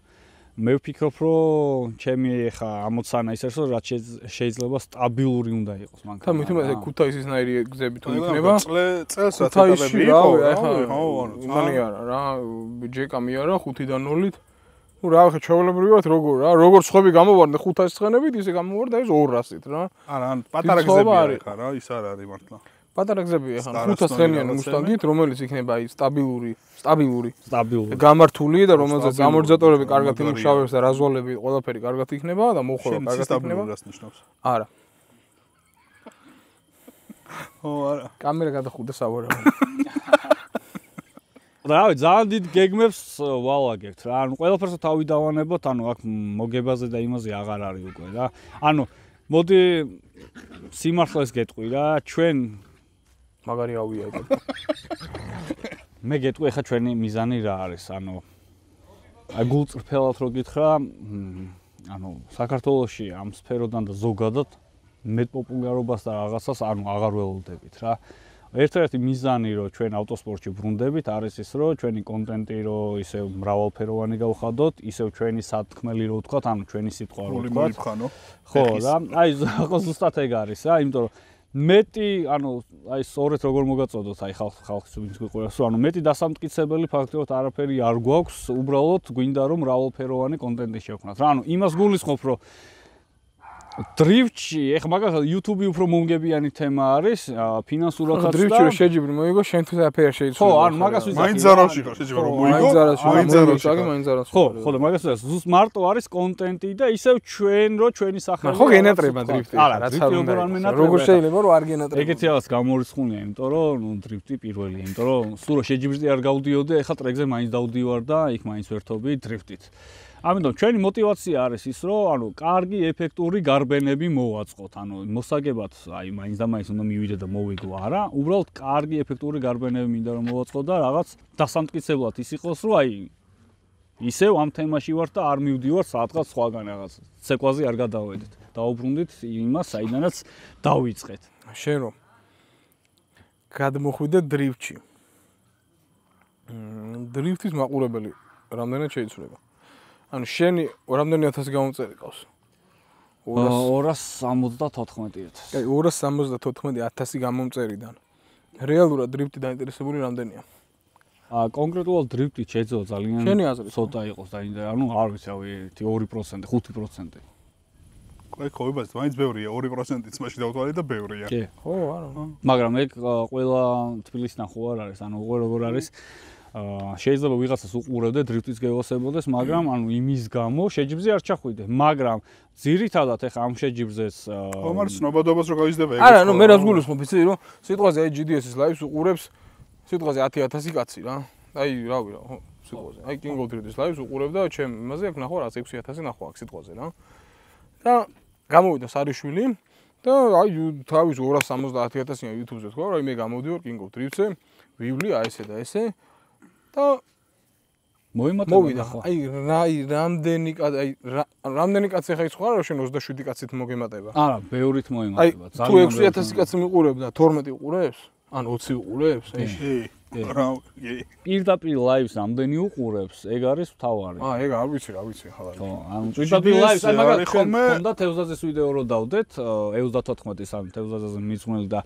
მე ვფიქრობ, რომ ჩემი ეხა ამოცანა ის არის, რომ რაც შეიძლება სტაბილური უნდა იყოს მანქანა. და მით უმეტეს ქუთაისისნაირი გზები თუ იქნება. წელს რაც ეთაპები იყო, ეხა იმანი არა რა, ჯეკა მიარა ხუთიდან ნულით. ну რა ხე ჩაოლებრივად როგორ რა, როგორ ცხები გამოვარდე ხუთასი ცხენებით, ისე გამოვარდა ეს ორასით რა. არა, ან პატარა გზები არის ხა რა, ის არ არის მართლა. პატარა გზები ეხა ხუთას ცხენიანი მუსტანგით, რომელიც იქნება აი სტაბილური, სტაბილური, სტაბილური. გამართული და რომელზეც ამორტიზატორები კარგად იმუშავებს და რაზვალები ყველაფერი კარგად იქნება და მოხורה კარგად იქნება. სტაბილურას ნიშნავს. არა. ო არა. კამერა გადახუდა სავარაუდოდ. რავი, ძალიან დიდ გეგმებს ვალაგებთ რა. ანუ ყველაფერს თავი დავანებოთ, ანუ აქ მოგებაზე და იმაზე აღარ არის უკვე რა. ანუ მოდი სიმართლეს გეტყვი რა, ჩვენ მაგარი ავია ეგ. მე გეტყვი ახლა ჩვენი მიზანი რა არის, ანუ აი გულწრფელად რო გითხრა, ანუ საქართველოში ამ სფეროდან და ზოგადად მეტ პოპულარობას და რაღაცას ანუ აღარ ველოდებით რა. ერთ-ერთი მიზანი რომ ჩვენ ავტოსპორტში ბრუნდებით არის ის რომ ჩვენი კონტენტი რომ ისევ მრავალფეროვანი გავხადოთ, ისევ ჩვენი სათქმელი რო ვთქვათ, ანუ ჩვენი სიტყვა რო ვთქვათ. ხო რა, აი ხო ზუსტად ეგ არის რა, იმიტომ რომ მეტი, ანუ აი სწორედ როგორ მოგაწოდოთ აი ხალხ ხალხს ვინც გვიყურებს, რომ ანუ მეტი დასამტკიცებელი ფაქტობრივად არაფერი არ გვაქვს, უბრალოდ გვინდა რომ მრავალფეროვანი კონტენტი შევქმნათ. რა, ანუ იმას გულისხმობ, რომ დრიფტში, ეხლა მაგალითად YouTube უფრო მომგებიანი თემა არის, ფინანსურადაც და დრიფტში რომ შეჯიბრი მოიგო, შენ თუ აფერი შეიძლება. ხო, ანუ მაგას ვიზახი. მაინც ზარალში ხარ, შეჯიბრი რომ მოიგო. მაინც ზარალში, მაინც ზარალში. მაინც ზარალში. ხო, ხო და მაგას ვიზახი. ზუსტ მარტო არის კონტენტი და ისევ ჩვენ რო ჩვენი სახელი. ხო, გენატრება დრიფტი. არა, რაც არ უნდა. როგორ შეიძლება რომ არ გენატრება. ეგეთი რაღაც გამორიცხულია, იმიტომ რომ ნუ დრიფტი პირველია, იმიტომ რომ სულ რო შეჯიბრზე არ გავდიოდე, ეხლა ტრეკზე მაინც დავდივარ და იქ მაინც ვერთობი დრიფტით. ამიტომ ჩვენი мотиваცია არის ის, რომ ანუ კარგი ეფექტური გარბენები მოვაწყოთ. ანუ მოსაგებად, აი მაინც და მაინც უნდა მივიდე და მოვიგო, არა, უბრალოდ კარგი ეფექტური გარბენები მინდა რომ მოვაწყოთ და რაღაც დასამტკიცებლად ის იყოს, რომ აი ისევ ამ თემაში ვარ და არ მივდივარ საათღაც სხვაგან რაღაც. ცეკვაზე არ გადავედით. დაუბრუნდით იმას, საიდანაც დავიწყეთ. შენ რომ გადმოხვიდე დრიფტში. დრიფტის მაყურებელი რამდენად შეიცვლება? ანუ შენი რამდენი ათასი გამომწერი ყავს? ორას სამოცდათოთხმეტი ათასი. აი ორას სამოცდათოთხმეტი ათასი გამომწერიდან. რეალურად დრიფტი დაინტერესებული რამდენია? აა კონკრეტულად დრიფტი შეძლო ძალიან შენი აზრით ცოტა იყოს დაინტერესებული, ანუ არ ვიცი, ერთი ორი პროცენტი, ხუთი პროცენტი. აი ხოიბას მაინც ბევრია, ორი პროცენტიც მაშინ დავთვალე და ბევრია. კი. ხო, არა. მაგრამ ეგ ყველა თბილისიდან ხო არ არის, ანუ უყურე როგორ არის. აა შეიძლება ვიღაცას უყურებდე დრიფტის გევასებოდეს, მაგრამ ანუ იმის გამო შეჯიბრზე არ ჩახვიდე, მაგრამ ძირითადად ეხა ამ შეჯიბრზეს ხო, მაგრამ ცნობადობას რო გავიზრდება ეგ. არა, ნუ მე რას გულისხმობ, იცი რომ სიტყვაზე აი ჯი დი ეს-ის ლაივს უყურებს სიტყვაზე ათი ათასი კაცი რა. აი რავი რა, ხო, სიტყვაზე. აი King of Drift-ის ლაივს უყურებ და ჩემ იმაზე აქ ნახო რა ექვსი ათასი ნახო აქ სიტყვაზე რა. და გამოვიდა სარიშვილი და აი თავის ორას სამოცდაათი ათასია YouTube-ზე თქვა, რომ მე გამოვდივარ King of Drift-ზე, ვივლი აი ესე და ესე და მოიმატება მოვიდა. აი რა რამდენი აი რამდენი კაცი ხა ის ხო არა, შენ ოცდაშვიდი კაცით მოგემატება. არა, ბევრით მოიმატება. ძალიან. თუ ექვსი ათასი კაცი მიყურებდა, თორმეტი უყურებს? ან ოცი უყურებს? კი. რა კი პირდაპირ ლაივს ამდენი უყურებს, ეგ არის მთავარი. აა, ეგ არ ვიცი, რა ვიცი ხალხი. ხო, ანუ პირდაპირ ლაივს, აი მაგალითად ხონდა თევზაძეს ვიდეო რო დავდეთ, ე ოცდათოთხმეტის ან თევზაძეს მიძღვნილი და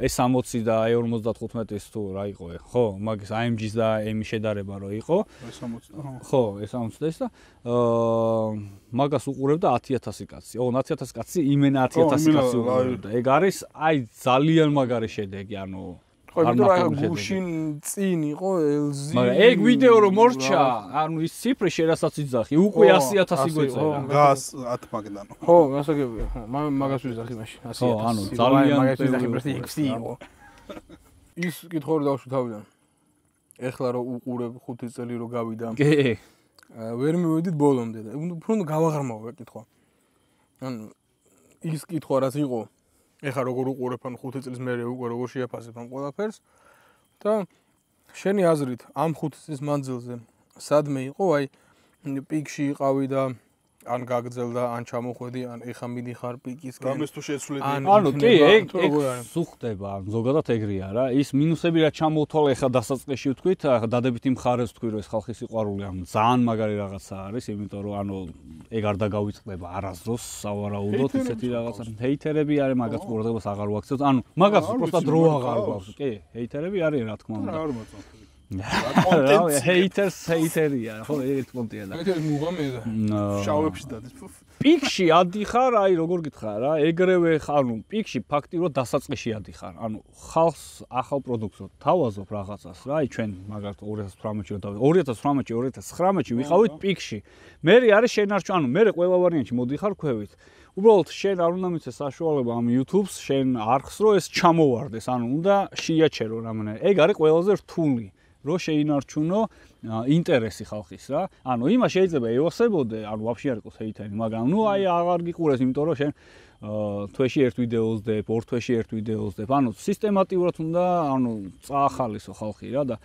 ე სამოცი და ე ორმოცდათხუთმეტის თუ რა იყო, ხო, მაგის A M G-ს და ემი შედარება რო იყო. ე სამოცი. ხო, ე სამოცი და ის და აა მაგას უყურებდა ათი ათასი კაცი. ო, ათი ათასი კაცი იმენა ათი ათასი კაცი უყურებდა. ეგ არის აი ძალიან მაგარი შედეგი, ანუ ხო, იმიტომ რომ გუშინ წინ იყო ელზი. მაგრამ ეგ ვიდეო რომ მორჩა, ანუ ის ციფრი შერასაც იძახი, უკვე ასი ათასი გვეწერა. გას ათ მაგდან. ხო, გასაგებია. ხო, მაგას ვიზახი მაშინ ასი ათასი. ხო, ანუ ძალიან მაგას ვიზახი პრესტი ექვსი იყო. ის კითხვა რო დავშვი თავიდან. ეხლა რო უყურებ ხუთი წელი რო გავიდა. კი. ვერ მივედით ბოლომდე და უფრო უნდა გავაღრმავო კითხვა. ანუ ის კითხვა რაც იყო ეხლა როგორ უყურებ ან ხუთი წლის მერე უკვე როგორ შეაფასებ ამ ყველაფერს და შენი აზრით ამ ხუთი წლის მანძილზე სადმე იყო აი პიკში იყავი და ან გაგძელდა ან ჩამოხვედი ან ეხა მიდიხარ პიკისკენ გამეს თუ შეცვლედი ანუ კი ეგ ეგ სუხდება ზოგადად ეგრეა რა ის მინუსები რა ჩამოვთვალე ეხა დასაწყისში ვთქვით დადებითი მხარეს ვთქვი რომ ეს ხალხის სიყვარული ანუ ძალიან მაგარი რაღაცა არის იმიტომ რომ ანუ ეგ არ დაგავიწყდება არასდროს სავარაუდოდ ისეთი რაღაცა ჰეითერები არის მაგას ყურადღებას აღარ ვაქცევთ ანუ მაგას უბრალოდ დრო აღარ გვაქვს კი ჰეითერები არის რა თქმა უნდა არ მოწონთ რა ჰეითერს ჰეითერია ხო ერთ პონტია და ჰეითერი მუღამედა შავებში დადის პიკში ადიხარ აი როგორ გითხრა რა ეგრევე ანუ პიკში ფაქტიურად დასაწყისში ადიხარ ანუ ხალხს ახალ პროდუქტს თავაზობ რაღაცას რა აი ჩვენ მაგალითად ორი ათას თვრამეტში ორი ათას თვრამეტში ორი ათას ცხრამეტში ვიყავით პიკში მე არის შენარჩუნ ანუ მე ყველა ვარიანტში მოდიხარ ქვევით უბრალოდ შენ არ უნდა მიცე საშუალება ამ YouTube-ს შენ არხს რომ ეს ჩამოვარდეს ანუ უნდა შეიაჩერო რამე ეგ არის ყველაზე რთული რო შეინარჩუნო ინტერესი ხალხის რა. ანუ იმას შეიძლება ევასებოდე, ანუ ვაფშე არ იყოს ჰეითერი, მაგრამ ნუ აი აღარ გიყურეს, იმიტომ რომ შენ თვეში ერთ ვიდეოს დებ, ორ თვეში ერთ ვიდეოს დებ. ანუ სისტემატიურად უნდა, ანუ წაახალისო ხალხი რა და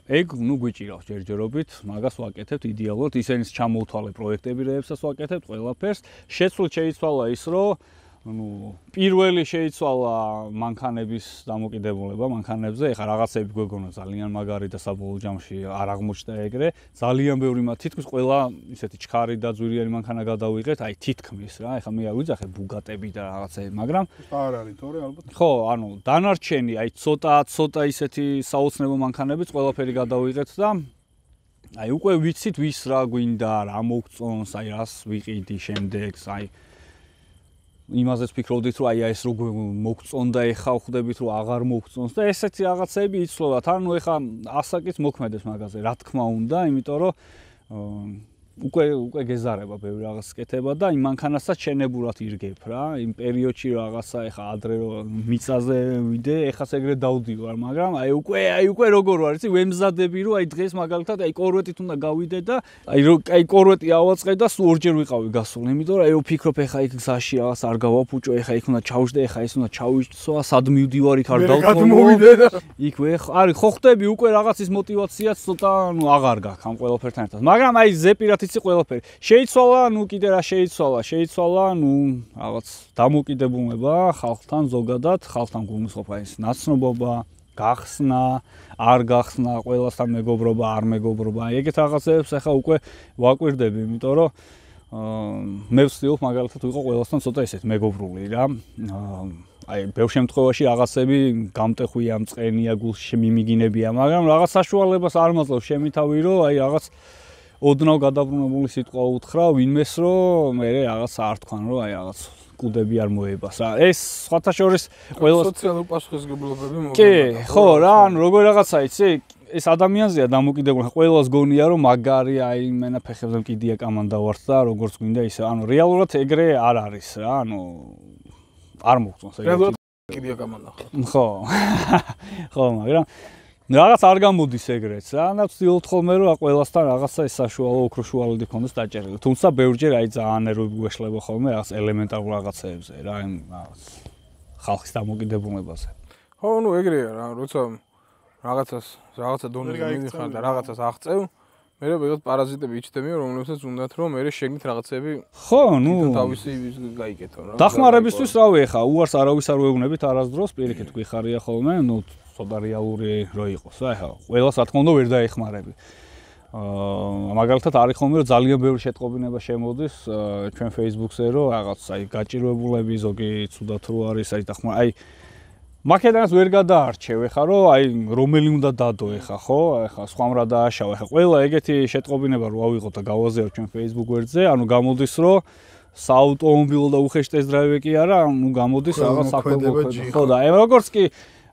ეგ ნუ გვიჭირავს ჯერჯერობით, მაგას ვაკეთებთ იდეალურად, ისენის ჩამოვთვალე პროექტები რეებსაც ვაკეთებთ ყველაფერს. შეცვლილ შეიცვალა ის რომ ну პირველი შეიცვალა მანქანების დამოკიდებულება მანქანებზე ეხა რაღაცები გვეგონა ძალიან მაგარი და საბოლოო ჯამში არ აღმოჩნდა ეგრე ძალიან ბევრი მათ თითქმის ყველა ისეთი ჩქარი და ძვირიანი მანქანა გადავიღეთ აი თითქმის რა ეხა მე არ ვიძახე ბუგატები და რაღაცები მაგრამ არ არის თორე ალბათ ხო ანუ დანარჩენი აი ცოტა ცოტა ისეთი საოცნებო მანქანებიც ყველაფერი გადავიღეთ და აი უკვე ვიცით ვის რა გვინდა რა მოგწონს აი რას ვიყიდი შემდეგს აი იმაზეც ფიქრობდით რომ აი ეს როგორ მოგწონდა ეხა ხვდებით რომ აღარ მოგწონს და ესეთი რაღაცები იცვლოთ ანუ ეხა ასაკიც მოქმედებს მაგაზე რა თქმა უნდა იმიტომ რომ უკვე უკვე გეზარება ბევრი რაღაც კეთება და იმ მანქანასაც შენებურად ირგებ რა იმ პერიოდში რაღაცა ეხა ადრე რომ მიწაზე ვიდე ეხას ეგრე დავდივარ მაგრამ აი უკვე აი უკვე როგორ ვარ იცი ვემზადები რომ აი დღეს მაგალითად აი კორვეტით უნდა გავიდე და აი რომ აი კორვეტი ავაწყე და სულ ორჯერ ვიყავი გასული იმიტომ რომ აი ვფიქრობ ეხა იქ გზაში რაღაც არ გავაფუჭო ეხა იქ უნდა ჩავშდე ეხა ის უნდა ჩავიცვა სად მივდივარ იქ არ დავწმოვიდე და იქ ვე არის ხო ხტები უკვე რაღაცის мотиваციაც ცოტა ნუ აღარ გაქვს ამ ყველაფერთან ერთად მაგრამ აი ზეპირად იცი ყველაფერი შეიცვალა ნუ კიდე რა შეიცვალა შეიცვალა ნუ რაღაც დამოკიდებულება ხალხთან ზოგადად ხალხთან გულისხმობა ის ნაცნობობა გახსნა არ გახსნა ყველასთან მეგობრობა არ მეგობრობა ეგეთ რაღაცებს ახლა უკვე ვაკვირდები იმიტომ რომ მე ვცდილობ მაგალითად ვიყო ყველასთან ცოტა ისეთ მეგობრული რა აი ბევრ შემთხვევაში რაღაცები გამტეხვია მწყენია გულში მიმიგინებია მაგრამ რაღაც საშუალებას არ მაძლევ შემითავი რომ აი რაღაც ოდნავ გადაბრუნებული სიტყვა უთხრა ვინმეს რომ მე რაღაც არ თქვან რომ აი რაღაც კუდები არ მოებას რა ეს სხვათა შორის ყველა სოციალური პასუხისმგებლობები მოგება კი ხო რა ანუ როგორ რაღაცა იცი ეს ადამიანზეა დამოკიდებული ყველას გონია რომ მაგარი აი მენა ფეხებზე მკიდია კამანდა ვართ და როგორც გვინდა ისე ანუ რეალურად ეგრე არ არის რა ანუ არ მოგწონს ეგრე მკიდია კამანდა ხო ხო მაგრამ რაღაც არ გამოდის ეგრეც რა და ვცდილობ ხოლმე რომ ყველასთან რაღაცა ეს საშუალო ოქროშუალოდი ქონდეს დაჭერილი თუმცა ბევრჯერ აი ძალიან ნერვები გვეშლება ხოლმე რაღაც ელემენტარულ რაღაცეებზე რა იმ რაღაც ხალხის დამოკიდებულებაზე ხო ნუ ეგრეა რა როცა რაღაცას რაღაცა დონეზე მიდიხარ და რაღაცას აღწევ მე ვიღაც პარაზიტები იჩდებიან, რომლებსაც უნდათ რომ მე შეგნით რაღაცები ხო, ნუ თავისი გაიკეთო რა. დახმარებისთვის რავი ხა, უარს არავის არ ვეუბნებით არასდროს, პირიქით გვიხარია ხოლმე, ნუ ცოტა რეალური რო იყოს რა, ხა. ყველას რა თქმა უნდა ვერ დაეხმარები. აა მაგალითად არის ხოლმე რომ ძალიან ბევრი შეტყობინება შემოდის ჩვენ Facebook-ზე რომ რაღაც აი გაჭირვებულები ზოგი ცუდად რო არის აი დახმარ აი მაკედანს ვერ გადაარჩევ ეხა რომ აი რომელი უნდა დადო ეხა ხო ეხა სხვამ რა დააშავა ეხა ყველა ეგეთი შეტყობინება რო ავიღოთ და გავაზიაროთ ჩვენ Facebook გვერდზე ანუ გამოდის რომ საავტომობილო და უხეშ ტესტ-დრაივი კი არა ანუ გამოდის რაღაც საქმე ხო და აი როგორც კი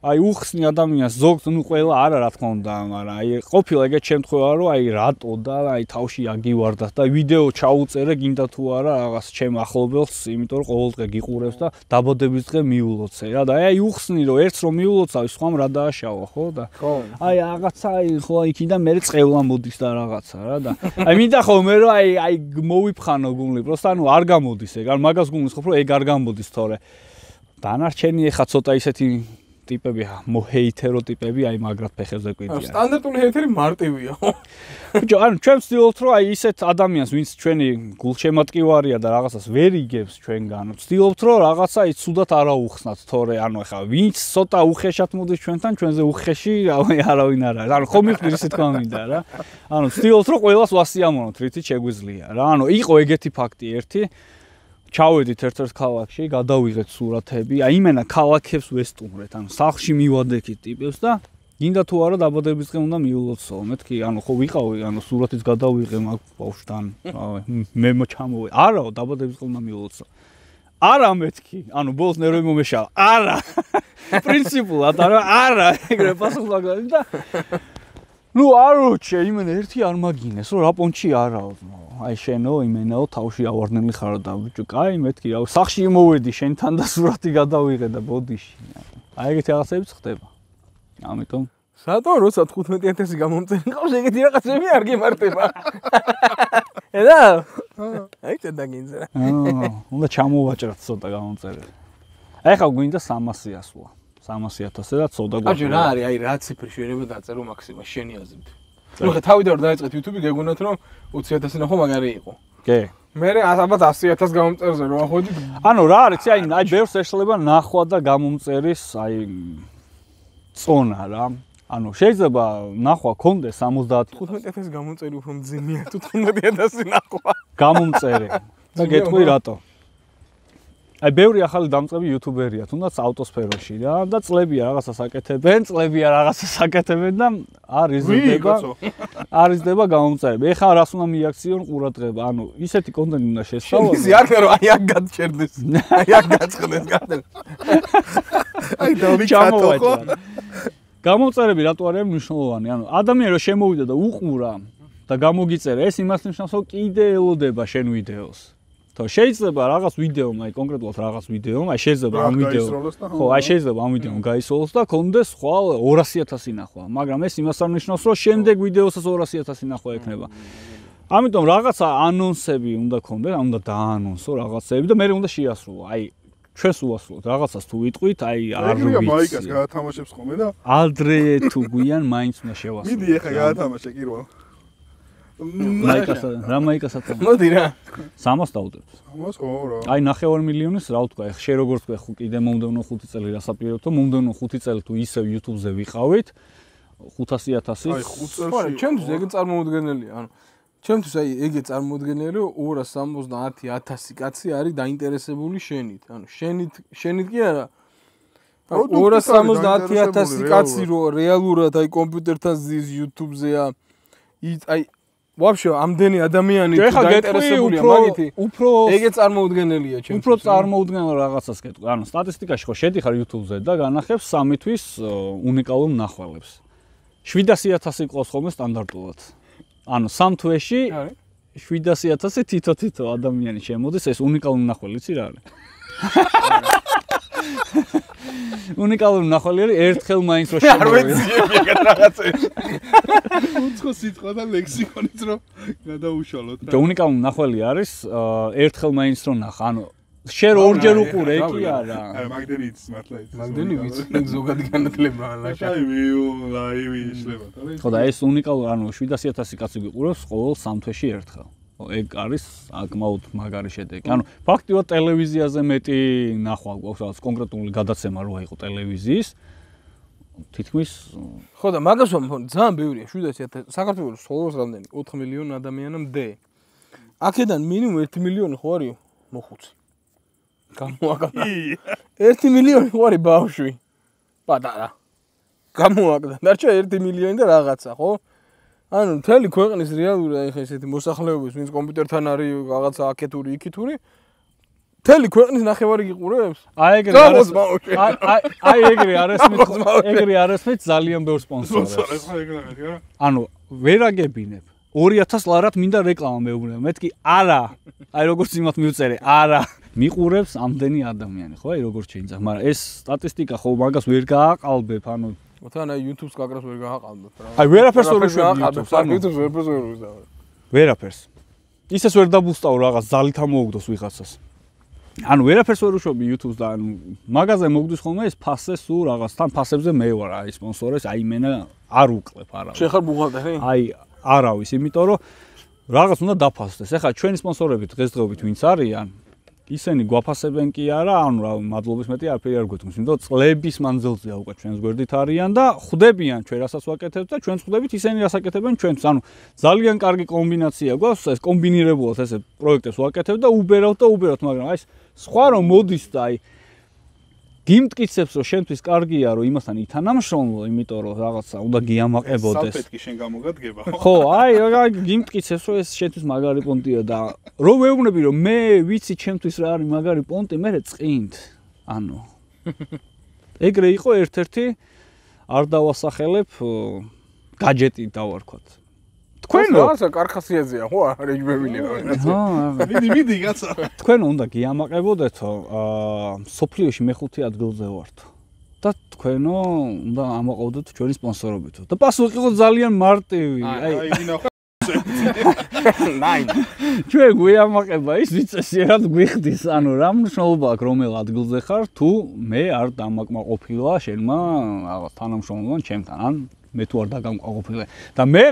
აი უხსნი ადამიანს ზოგს ნუ ყველა არა რა თქმა უნდა მაგრამ აი ყოფილა ეგეთ შემთხვევა რომ აი რატო და აი თავში აგივარდათ და ვიდეო ჩაუწერე გინდა თუ არა რაღაც ჩემ ახლობელს იმიტომ რომ ყოველდღე გიყურებს და დაბადების დღე მიულოცე რა და აი უხსნი რომ ერთს რომ მიულოცავ სხვამ რა დააშავა ხო და აი რაღაცა აი ხო იქიდან მე წევლა მოდის და რაღაცა რა და აი მინდა ხოლმე რომ აი აი მოვიფხანო გუნლი პროსტა ანუ არ გამოდის ეგ არ მაგას გუნლის ხო რომ ეგ არ გამოდის თორე დანარჩენი ეხა ცოტა ისეთი ტიპები მოჰეითერო ტიპები აი მაგრად ფეხებზე კვიდიან. სტანდარტული ჰეითერი მარტივია ხო? ბიჭო, ანუ ჩვენ ვცდილობთ რომ აი ისეთ ადამიანს, ვინც ჩვენი გულშემატკივარია და რაღაცას ვერ იგებს ჩვენგან, ვცდილობთ რომ რაღაცა აი ცუდად არ აუხსნათ, თორე ანუ ახლა ვინც ცოტა უხეშად მოდის ჩვენთან, ჩვენზე უხეში არავინ არ არის. ანუ ხომ მიხდი ისე თქვა მინდა რა. ანუ ვცდილობთ რომ ყველას ვასიამოვნოთ, რითიც შეგვიძლია რა. ანუ იყო ეგეთი ფაქტი ერთი ჩავედით ერთ-ერთ ქალაქში, გადავიღეთ სურათები, აი იმენა ქალაქებს ვესტუმრეთ, ანუ სახლში მივადექით ტიპებს და გინდა თუ არა დაბადების დღე უნდა მიულოცო. მეთქი, ანუ ხო ვიყავი, ანუ სურათიც გადავიღე მაგ ბავშვთან, მე მოჩამოვე. არაო, დაბადების დღე უნდა მიულოცო. არა მეთქი, ანუ ბოლოს ნერვები მომეშალა. არა. პრინციპულად, არა, ეგრე პასუხი და ნუ აროჩე, იმენა ერთი არ მაგინეს, რომ რა პონჩი არაო. აი შენო იმენაო თავში ავარდნელი ხარო და ბიჭო, კაი მეთქი, რა სახში მოვედი შენთან და სურათი გადავიღე და ბოდიში. აი ეგეთი რაღაცებიც ხდება. ამიტომ სატო როცა თხუთმეტი ათასი გამომწერი ყავს ეგეთი რაღაცები არ გემართება. ედა? აი წედა გინძრა. აა, უნდა ჩამოვაჭრათ ცოტა გამომწერი. აი ხა გვინდა სამასი ასვლა. სამასი ათასი და ცოტა გვაქვს. აჯი რა არის, აი რა ციფრი შეიძლება დაწერო მაქსიმა შენი აზრით. ნუ ხა თავიდან რომ დაიწყეთ YouTube-ი გეგონათ რომ ოცი ათასი ნახო მაგარი იყო. კი. მე ალბათ ასი ათასი გამომწერზე რომ ახოდით. ანუ რა არის, აი აი ბევრს ეშლება ნახვა და გამომწერის აი წონა რა. ანუ შეიძლება ნახვა კონდეს სამოცდაათი თხუთმეტი ათასი გამომწერი უფრო მძიმეა თუ თხუთმეტი ათასი ნახვა. გამომწერი. და გეტყვი რატო? აი ბევრი ახალი დამწყები იუთუბერია, თუნდაც ავტოსფეროში რა და წლებია რაღაცას აკეთებენ, წლებია რაღაცას აკეთებენ და არ იზრდება. არ იზრდება გამომწერები. ეხლა რას უნდა მიაქციონ ყურადღება. ანუ ისეთი კონტენტი უნდა შესწავლო. ისი არ ხარო, აი აქ გადჩერდეს. აი აქ გაწყდეს გადელ. აი დავიკატო ხო? გამომწერები რატო არის მნიშვნელოვანი? ანუ ადამიანი რომ შემოვიდა და უყურა და გამოგიწერა, ეს იმას ნიშნავს, რომ კიდე ელოდება შენ ვიდეოს. თო შეიძლება რაღაც ვიდეომ, აი კონკრეტულად რაღაც ვიდეომ, აი შეიძლება ამ ვიდეო. ხო, აი შეიძლება ამ ვიდეომ გაისროლოს და კონდეს ხვალ ორასი ათასი ნახვა, მაგრამ ეს იმას არ ნიშნავს, რომ შემდეგ ვიდეოსაც ორასი ათასი ნახვა ექნება. ამიტომ რაღაცა ანონსები უნდა კონდეს, უნდა დაანონსო რაღაცები და მე უნდა შეასრულო. აი ჩვენს უასრულოთ რაღაცას თუ ვიტყვით, აი არ ვიცი. ეგრეა მაიკას გაათამაშებს ხოლმე და ადრე თუ გვიან მაინც უნდა შევასრულო. მიდი ეხა გაათამაშე კირვალ. მაიკასა, რა მაიკასაც. მოდი რა. სამას დავუდებთ. სამას ხო რა. აი ნახევარი მილიონის რა ვთქვა, ეხ შე როგორც თქვა, ხო კიდე მომდევნო ხუთი წელი რასაპირებთო, მომდევნო ხუთი წელი თუ ისევ YouTube-ზე ვიყავით, ხუთასი ათასი. აი ხუთ წელში. ხო, ჩემთვის ეგ წარმოუდგენელია, ანუ ჩემთვის აი ეგე წარმოუდგენელი ორას სამოცდაათი ათასი კაცი არის დაინტერესებული შენით. ანუ შენით, შენით კი არა. ორას სამოცდაათი ათასი კაცი რო რეალურად აი კომპიუტერთან ზის YouTube-ზეა. აი ვაფშე ამდენი ადამიანი დაინტერესებულია მაგითი. უფრო ეგე წარმოუდგენელია ჩემთვის. უფრო წარმოუდგენელ რაღაცას გეტყვი. ანუ სტატისტიკაში ხო შედიხარ YouTube-ზე და განახებს სამი თვის უნიკალურ ნახვალებს. შვიდასი ათასი ყავს ხოლმე სტანდარტულად. ანუ სამ თვეში შვიდასი ათასი თითო-თითო ადამიანი შემოდის, ეს უნიკალური ნახველი იცი რა არის? უნიკალური ნახველი არის ერთხელ მაინც რო შემოვიდა. არ ვეციები ეგეთ რაღაცებს. უცხო სიტყვა და ლექსიკონიც რო გადაუშალოთ რა. და უნიკალური ნახველი არის ერთხელ მაინც რო ნახა. ანუ შენ ორჯერ უყურე კი არა აი მაგდენი იცის მართლა იცის მაგდენი ვიცი ზოგადი განათლება ლაშა აი ვიუ ლაივი იშლება ხო და ეს უნიკალური ანუ შვიდასი ათასი კაცი გიყურებს ყოველ სამ თვეში ერთხელ ეგ არის აკმაოდ მაგარი შედეგი ანუ ფაქტიურად ტელევიზიაზე მეტი ნახვა გვაქვს რაღაც კონკრეტული გადაცემა რო აიყო ტელევიზიის თითქმის ხო და მაგას ვამბობ ძალიან ბევრია შვიდასი ათასი საქართველოს სოლოს რამდენი ოთხ მილიონი ადამიანამდე აქედან მინიმუმ ერთი მილიონი ხო არისო მოხუცი გამოაკდა ერთი მილიონი ხო არის ბავშვი პატარა გამოაკდა დარჩა ერთი მილიონი და რაღაცა ხო ანუ მთელი ქვეყნის რეალური აი ხა ესეთი მოსახლეობის ვინც კომპიუტერთან არის რაღაცა აკეთური იქითური მთელი ქვეყნის ნახევარი გიყურებს აი ეგრე არის აი აი ეგრე არის ეგრე არის ძალიან ბევრ სპონსორებს ანუ ვერ აგებინებ ორი ათას ლარად მინდა რეკლამა მეუბნება მეთქი არა აი როგორც იმათ მივწერე არა მიყურებს ამდენი ადამიანი ხო აი როგორც შეიძლება მაგრამ ეს სტატისტიკა ხო მაგას ვერ გააყალბებ ანუ თან აი YouTube-ს კაკრას ვერ გააყალბებ რა აი ვერაფერს ვერ უშვებ YouTube-ს ანუ YouTube-ს ვერაფერს ვერ უშვებ ვერაფერს ისეს ვერ დაბუსტავ რაღაც ზალით ამოუგდოს ვიღაცას ანუ ვერაფერს ვერ უშვებ YouTube-ს და ანუ მაგაზე მოგდის ხოლმე ეს ფასე სულ რაღაც თან ფასებზე მე ვარ აი სპონსორებს აი მენა არ უკლებ არა შენ ხარ ბუღალტერი აი არავის იმიტომ რომ რაღაც უნდა დაფასდეს ეხლა ჩვენი სპონსორები დღესდღეობით ვინც არიან ისინი გვაფასებენ კი არა ანუ რა მადლობის მეტი არაფერი არ გვეთქმის იმიტომ წლების მანძილზეა უკვე ჩვენს გვერდით არიან და ხვდებიან ჩვენ რასაც ვაკეთებთ და ჩვენს ხვდებით ისინი რას აკეთებენ ჩვენს ანუ ძალიან კარგი კომბინაცია გვაქვს ეს კომბინირებულად ესე პროექტებს ვაკეთებ და უბერავთ და უბერავთ მაგრამ აი სხვა რომ მოდის და აი გიმტკიცებს რომ შენთვის კარგია რომ იმასთან ითანამშრომლო იმიტომ რომ რაღაცა უნდა გიამაყებოდეს საფეთქი შენ გამოგადგება ხო აი აი გიმტკიცებს რომ ეს შენთვის მაგარი პონტია და რომ ვეუბნები რომ მე ვიცი ჩემთვის რა არის მაგარი პონტი მე წყინთ ანუ ეგრე იყო ერთ-ერთი არ დავასახელებ გაჯეტი დავარქვათ თქვენ რაღაცა კარხასიაძეა ხო არ ეგბებინება ხო მიდი მიდი გაცა თქვენ უნდა გიამაყებოდეთო სოფლიოში მეხუთე ადგილზე ვართ და თქვენო უნდა ამაყავდეთ ჩვენი სპონსორობითო და პასუხი იყო ძალიან მარტივი აი ვინახავ ნაინ ჩვენ გვიამაყება ის ვიწესიერად გვიხდის ანუ რა მნიშვნელობა აქვს რომელ ადგილზე ხარ თუ მე არ დამაკმაყოფილა შენმა რაღაც თანამშრომლობამ ჩემთან ან მე თუ არ დაგამკმაყოფილე და მე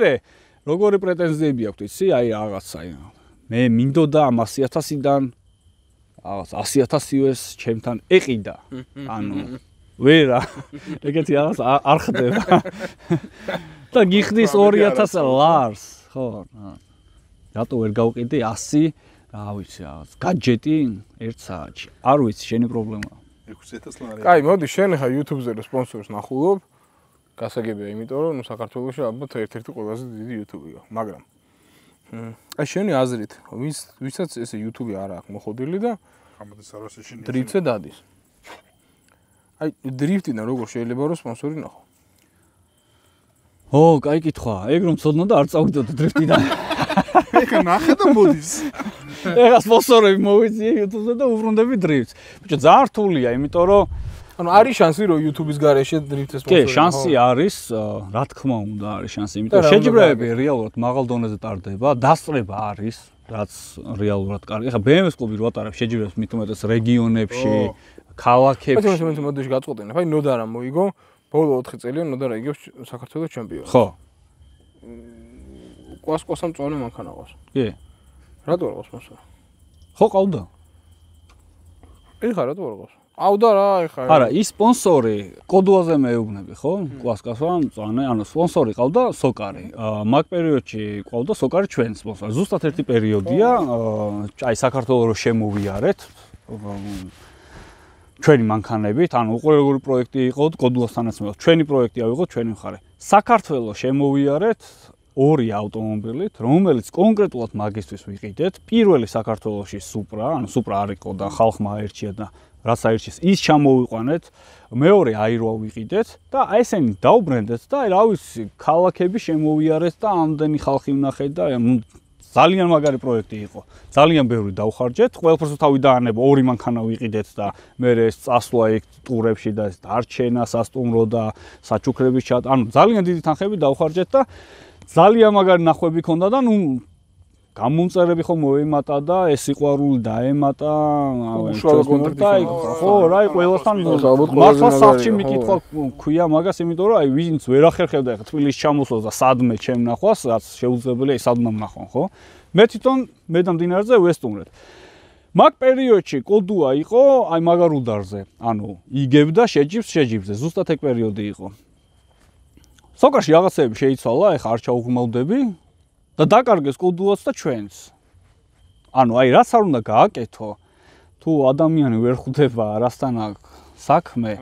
როგორი პრეტენზიები აქვს იცი აი რაღაცა მე მინდოდა ამ ასი ათასიდან რაღაც ასი ათასიოს ჩემთან ეყიდა ანუ ვერა ეგეთი რაღაც არ ხდება და გიხდის ორი ათას ლარს ხო რატო ვერ გავყიდე ასი რა ვიცი რაღაც გაჯეტი ერთ საათში არ ვიცი შენი პრობლემაა ექვსი ათას ლარი კაი მოდი შენ ხა YouTube-ზე რო სპონსორს ნახულობ გასაგებია იმიტომ რომ ნუ საქართველოში ალბათ ერთ-ერთი ყველაზე დიდი YouTube-ია მაგრამ აი შენი აზრით ვის ვისაც ესე YouTube არ აქვს მოხდილი და ამოდის არასე შენ დრიფტზე დადის აი დრიფტიდან როგორ შეიძლება რომ სპონსორი ნახო ო კაი კითხვა ეგ რომ ცოდნა და არ წავიდოდ დრიფტიდან ეხა ნახე და მოდის ეხა სპონსორები მოვიწიე YouTube-ზე და უბრუნდები დრიფტს ბიჭო ძალიან რთულია იმიტომ რომ ანუ არის შანსი რომ YouTube-ის გარეშე დრიფტის სპონსორი კი შანსი არის რა თქმა უნდა არის შანსი იმიტომ რომ შეჯიბრებები რეალურად მაღალ დონეზე ტარდება დასწრება არის რაც რეალურად კარგი ეხა B M W-ს კლუბი რო ატარებს შეჯიბრებს მით უმეტეს რეგიონებში ქალაქებში ბატონო მე მოდეში გაწყვეტინებ აი ნოდარა მოიგო ბოლო ოთხი წელია ნოდარა იგებს საქართველოს ჩემპიონი ხო ყვას-ყვასამ წონე მანქანა ყავს კი რატო არ ყავს სპონსორი ხო ყავდა ეხა რატო არ ყავს ყავდა რა ეხა არა ის სპონსორი კოდუაზე მეუბნები ხო ყვას-ყვასამ წონე ანუ სპონსორი ყავდა სოკარი მაგ პერიოდში ყავდა სოკარი ჩვენ სპონსორი ზუსტად ერთი პერიოდია აი საქართველოს რო შემოვიარეთ ჩვენი მანქანებით, ანუ უყურე როგორი პროექტი იყო კოდულასთანაც მე. ჩვენი პროექტი ავიღოთ ჩვენი მხარე. საქართველოს შემოვიარეთ ორი ავტომობილით, რომელიც კონკრეტულად მაგისტვის ვიყიდეთ. პირველი საქართველოში სუპრა, ანუ სუპრა არ იყო და ხალხმა აერჩია და რაც აერჩიეს, ის ჩამოვიყვანეთ. მეორე აიროა ვიყიდეთ და აი ესენი დაუბრუნდეთ და აი რა ვიცი, ქალაქები შემოვიარეთ და ამდენი ხალხი ვნახეთ და ნუ ძალიან მაგარი პროექტი იყო. ძალიან ბევრი დავხარჯეთ. ყველაფერს თავი დაანება, ორი მანქანა ვიყიდეთ და მე ეს წასვლა იქ ტურებში და ეს დარჩენა, სასტუმრო და საჩუქრების ჩატ. ანუ ძალიან დიდი თანხები დავხარჯეთ და ძალიან მაგარი ნახვები ქონდა და ნუ გამომწერები ხო მოემატა და ეს სიყვარული დაემატა უშუალო კონტაქტი ხო რა ყველასთან მართლა სახში მიკითხვა ქვია მაგას იმიტომ რომ აი ვინც ვერ ახერხებდა ხა თბილისში ჩამოსვლა და სადმე ჩემ ნახვას რაც შეუძლებელია სადმე ნახონ ხო მე თვითონ მე და მდინარეზე ვესტუმრეთ მაგ პერიოდში კოდუა იყო აი მაგარ უდარზე ანუ იგებდა შეჯიბს შეჯიბზე ზუსტად ეგ პერიოდი იყო სოკაში რაღაცები შეიცვალა ეხა არ ჩაუღმავდები და დაკარგეს კოდუაც და ჩვენს. ანუ აი რაც არ უნდა გააკეთო, თუ ადამიანი ვერ ხვდება რასთან აქვს საქმე,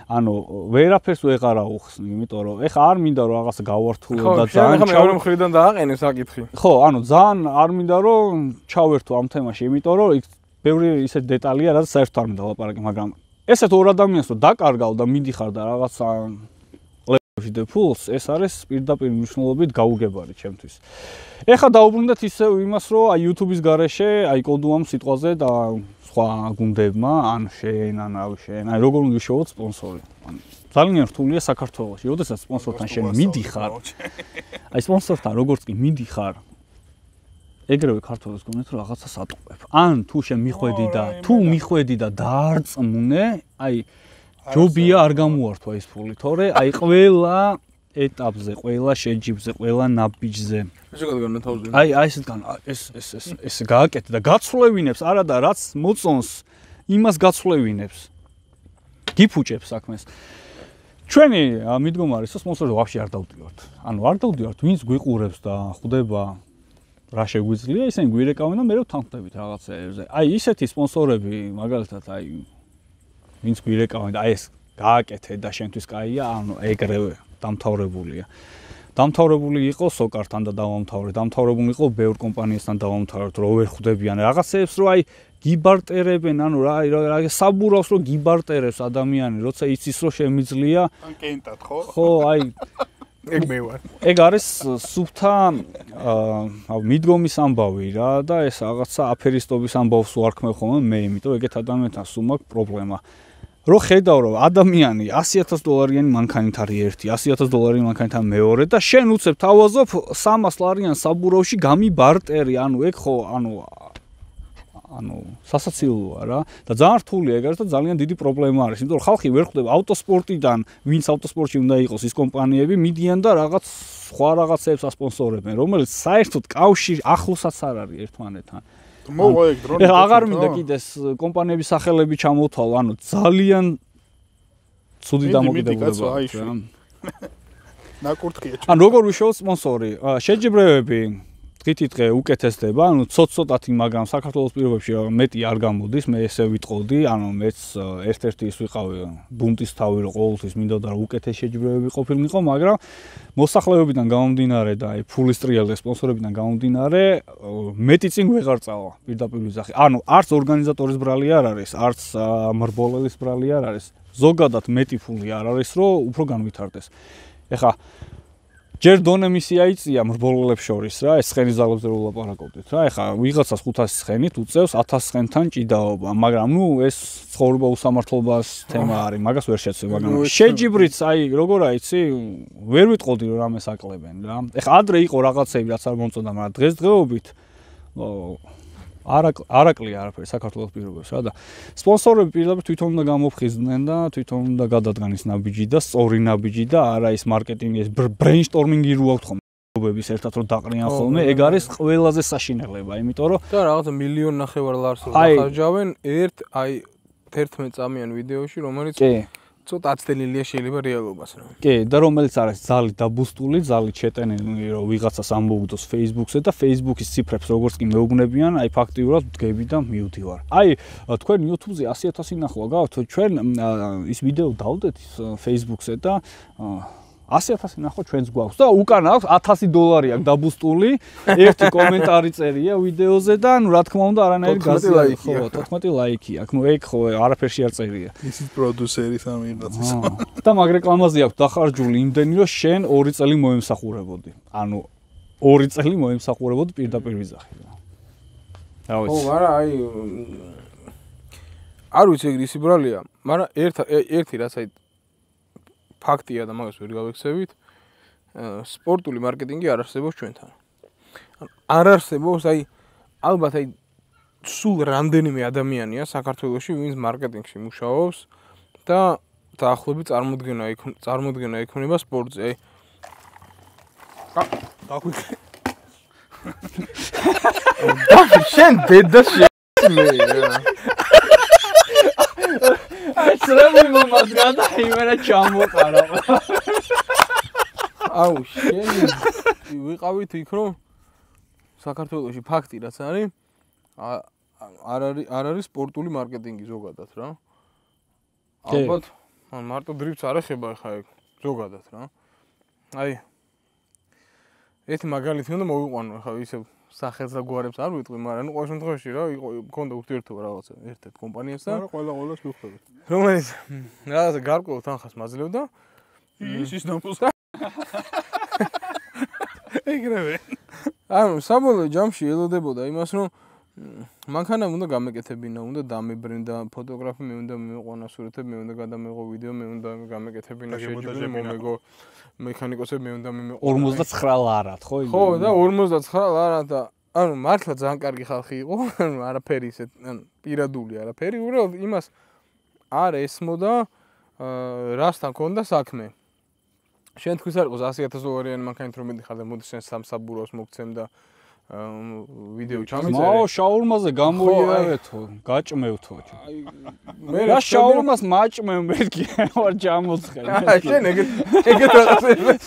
ანუ ვერაფერს ვეღარ აუხსნი, იმიტომ რომ ეხა არ მინდა რომ რაღაცა გავართულო და ძალიან ხა მეორე მხრიდან დააყენე საკითხი. ხო, ანუ ძალიან არ მინდა რომ ჩავერთო ამ თემაში, იმიტომ რომ იქ ბევრი ისეთ დეტალია, რაც საერთოდ არ მინდა ლაპარაკი, მაგრამ ესეთ ორ ადამიანს რომ დაკარგავ და მიდიხარ და რაღაცა ფულს ეს არის პირდაპირ მნიშვნელობით გაუგებარი ჩემთვის. ეხა დაუბრუნდეთ ისევ იმას, რომ აი YouTube-ის გარეშე, აი კოდუამ სიტყვაზე და სხვა გუნდებმა, ან შენ, ან რავი შენ, აი როგორ უნდა შევოთ სპონსორი. ან ძალიან რთულია საქართველოში, როდესაც სპონსორთან შენ მიდიხარ. აი სპონსორთან როგორც კი მიდიხარ, ეგრევე ქართველებს გონეთ რომ რაღაცა სატყუებ. ან თუ შენ მიხვედი და თუ მიხვედი და დაარწმუნე, აი ჯობია არ გამოართვა ეს ფული, თორე აი ყველა ეტაპზე, ყველა შეჯიბზე, ყველა ნაბიჯზე. ესე გადაგანა თავზე. აი აი ესეთ გან ეს ეს ეს ეს გააკეთე და გაცვლევინებს, არა და რაც მოწონს, იმას გაცვლევინებს. გიფუჭებს საქმეს. ჩვენი მიდგომა არის, რომ სპონსორები ვაფშე არ დავდივართ. ანუ არ დავდივართ, ვინც გვიყურებს და ხვდება რა შეგვიძლია, ისინი გვირეკავენ და მე რო თანხმდებით რაღაცეებზე. აი ისეთი სპონსორები, მაგალითად, აი ვინც გვირეკავენ და აი ეს გააკეთე და შენთვის კაია, ანუ ეგრევე დამთავრებულია. დამთავრებული იყო სოკართან და დავამთავრე, დამთავრებული იყო ბევრ კომპანიასთან დავამთავრეთ, რო ვერ ხვდებიან რაღაცეებს, რო აი გიბარტერებენ, ანუ რა რა საბურავს, რო გიბარტერებს ადამიანი, როცა იცის, რომ შემიძლია. ან კენტად, ხო? ხო, აი ეგ მე ვარ. ეგ არის სუფთა აა მიდგომის ამბავი რა და ეს რაღაცა აფერისტობის ამბავს ვარქმევ ხოლმე მე, იმიტომ ეგეთ ადამიანთან სულ მაქვს პრობლემა. რო ხედავ რომ ადამიანი ასი ათას დოლარიანი მანქანით არის ერთი, ასი ათას დოლარიანი მანქანით არის მეორე და შენ უცებ თავაზობ სამას ლარიან საბურავში გამიბარტერი, ანუ ეგ ხო, ანუ ანუ სასაცილოა რა და ძალიან რთულია ეგ არის და ძალიან დიდი პრობლემა არის, იმიტომ რომ ხალხი ვერ ხვდება ავტოსპორტიდან, ვინც ავტოსპორტში უნდა იყოს ის კომპანიები, მიდიან და რაღაც სხვა რაღაცებს ასპონსორებენ, რომელიც საერთოდ კავშირი ახლოსაც არ არის ერთმანეთთან. მოვა ეგ დრონი. ეხლა აღარ მინდა კიდეს კომპანიების სახელები ჩამოთვალო, ანუ ძალიან ცუდი დამოკიდებულება აქვს რა. ნაკურთხია. ან როგორ ვიშოვოთ სპონსორი? შეჯიბრებები დღითი დღე უკეთესდება, ანუ ცოტ-ცოტათი, მაგრამ საქართველოს პირობებში მეტი არ გამოდის, მე ესე ვიტყოდი, ანუ მეც ერთ-ერთი ის ვიყავი ბუნტის თავი, რომ ყოველთვის მინდოდა რომ უკეთეს შეჯიბრებები ყოფილიყო, მაგრამ მოსახლეობიდან გამომდინარე და აი ფულის ტრიალზე სპონსორებიდან გამომდინარე, მეტი წინ ვეღარ წავა პირდაპირ ვიზახი. ანუ არც ორგანიზატორის ბრალი არ არის, არც მრბოლელის ბრალი არ არის. ზოგადად მეტი ფული არ არის, რომ უფრო განვითარდეს. ეხა ჯერ დონე მისი აიწია მრბოლელებს შორის რა, ეს ცხენის ძალებზე რო ვლაპარაკობდით რა, ეხა ვიღაცას ხუთასი ცხენით უწევს ათას ცხენთან ჭიდაობა, მაგრამ ნუ ეს ცხოვრება უსამართლობას თემა არის, მაგას ვერ შეცვი, მაგრამ შეჯიბრიც აი როგორ აიცი, ვერ ვიტყოდი რომ რამეს აკლებენ რა. ეხა ადრე იყო რაღაცები, რაც არ მომწონდა, მაგრამ დღესდღეობით არაკლია არაფერი საქართველოს პირობებს რა და სპონსორები პირდაპირ თვითონ უნდა გამოფხიზდნენ და თვითონ უნდა გადადგან ის ნაბიჯი და სწორი ნაბიჯი და არა ის მარკეტინგი ეს ბრეინშტორმინგი რო აქვს ხოლმე ერთად რო დაყრიან ხოლმე ეგ არის ყველაზე საშინელება იმიტომ რომ და რაღაცა მილიონ ნახევარ ლარს რო დახარჯავენ ერთ აი თერთმეტ წამიან ვიდეოში რომელიც კი ცოტა აცდენილია შეიძლება რეალობას რა. კი, და რომელიც არის ზალი დაბუსტული, ზალი ჩეტენილი, რომ ვიღაცას ამბობდოს Facebook-ზე და Facebook-ის ციფრებს როგორც კი მეუბნებიან, აი ფაქტიურად ვდგები და მივდივარ. აი, თქვენ YouTube-ზე ასი ათასი ნახვა გაქვთ, ჩვენ ის ვიდეო დავდეთ Facebook-ზე და ასი ათასი ნახვა ჩვენს გვაქვს და უკან აქვს ათასი დოლარი აქვს დაბუსტული, ერთი კომენტარი წერია ვიდეოზე და ნუ რა თქმა უნდა არანაირი გაზია, ხო, თოთხმეტი ლაიქი აქვს. ნუ ეგ ხო არაფერში არ წერია. ისიც პროდიუსერი სამიღაცის. და მაგ რეკლამაზე აქვს დახარჯული იმდენი, რომ შენ ორი წელი მოემსახურებოდი. ანუ ორი წელი მოემსახურებოდი პირდაპირ ვიზახი რა. რა ვიცი. ხო, მაგრამ აი არ ვიცი ეგ ისი ბრალია, მაგრამ ერთ ერთი რაც აი ფაქტია და მაგას ვერ გავექცევით, სპორტული მარკეტინგი არ არსებობს ჩვენთან. არ არსებობს, აი ალბათ აი სულ რამდენიმე ადამიანია საქართველოში, ვინც მარკეტინგში მუშაობს და დაახლოებით წარმოდგენა წარმოდგენა ექნება სპორტზე. აი დაგვიქ შენ დედას მე აი სრემი მომას გადაიმერა ჩამოყარა. აუ შენ ვიყავით იქ რომ საქართველოში ფაქტი რაც არის არ არის არ არის სპორტული მარკეტინგი ზოგადად რა. ალბათ ან მარტო დრიფტს არ ეხება ხა ეგ ზოგადად რა. აი ერთი მაგალითი უნდა მოვიყვანო ხა ისე სახელს და გვარებს არ ვიტყვი, მაგრამ ნუ ყოველ შემთხვევაში რა იყო მქონდა ურთიერთობა რაღაცა ერთ-ერთ კომპანიასთან. არა ყველა ყველას მივხვდებით. რომელიც რაღაცა გარკვეულ თანხას მაძლევდა. ის ის ნამოს. ეგრევე. ანუ საბოლოო ჯამში ელოდებოდა იმას რომ მანქანა უნდა გამეკეთებინა, უნდა დამებრენდა ფოტოგრაფი, მე უნდა მივიყვანა სურათები, მე უნდა გადამეღო ვიდეო, მე უნდა გამეკეთებინა შეჯიბრი, მომეგო მექანიკოსები, მე უნდა მიმეყო ორმოცდაცხრა ლარად, ხო? ხო, და ორმოცდაცხრა ლარად და ანუ მართლა ძალიან კარგი ხალხი იყო, ანუ არაფერი ისე, ანუ პირადული არაფერი, უბრალოდ იმას არ ესმოდა რასთან ქონდა საქმე. შენ თქვის არ იყოს ასი ათას დოლარიანი მანქანით რომ მიდიხარ და მოდი შენ სამსაბუროს მოგცემ და ვიდეო ჩამიწერე. მაო შაურმაზე გამოიარეთო, გაჭმევთო. მე რა შაურმას მაჭმევ მეთქი ვარ ჩამოცხელ. შენ ეგეთ ეგეთ რაღაცებს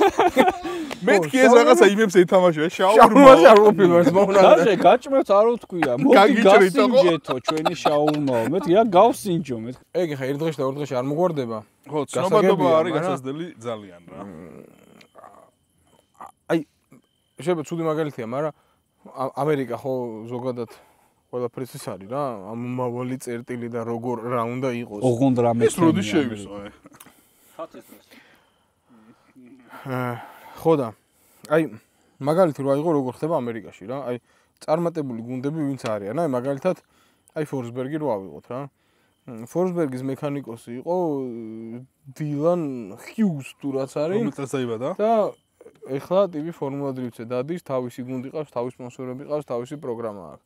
მეთქი ეს რაღაცა იმებს ეთამაშო, შაურმა. შაურმას არ ყოფილი ვარ მოუნა. დაშე გაჭმევთ არ უთქვია. მოდი გასინჯეთო ჩვენი შაურმაო. მეთქი რა გავსინჯო მეთქი. ეგ ხა ერთ დღეში და ორ დღეში არ მოგვარდება. ხო, ცნობადობა არის გასაზრდელი ძალიან რა. აი შეიძლება ცუდი მაგალითია, მაგრამ ამერიკა ხო ზოგადად ყველაფერს ის არის რა, ამომავალი წერტილი და როგორ რა უნდა იყოს. ოღონდ რამე ეს როდის შევისო აი. ხო და აი მაგალითი რო აიღო როგორ ხდება ამერიკაში რა, აი წარმატებული გუნდები ვინც არიან, აი მაგალითად აი ფორსბერგი რო ავიღოთ რა. ფორსბერგის მექანიკოსი იყო დილან ჰიუს თუ რაც არის. რომელსაც დაიბადა? და ეხლა ტივი ფორმულა დრიფტზე დადის, თავისი გუნდი ყავს, თავისი სპონსორები ყავს, თავისი პროგრამა აქვს.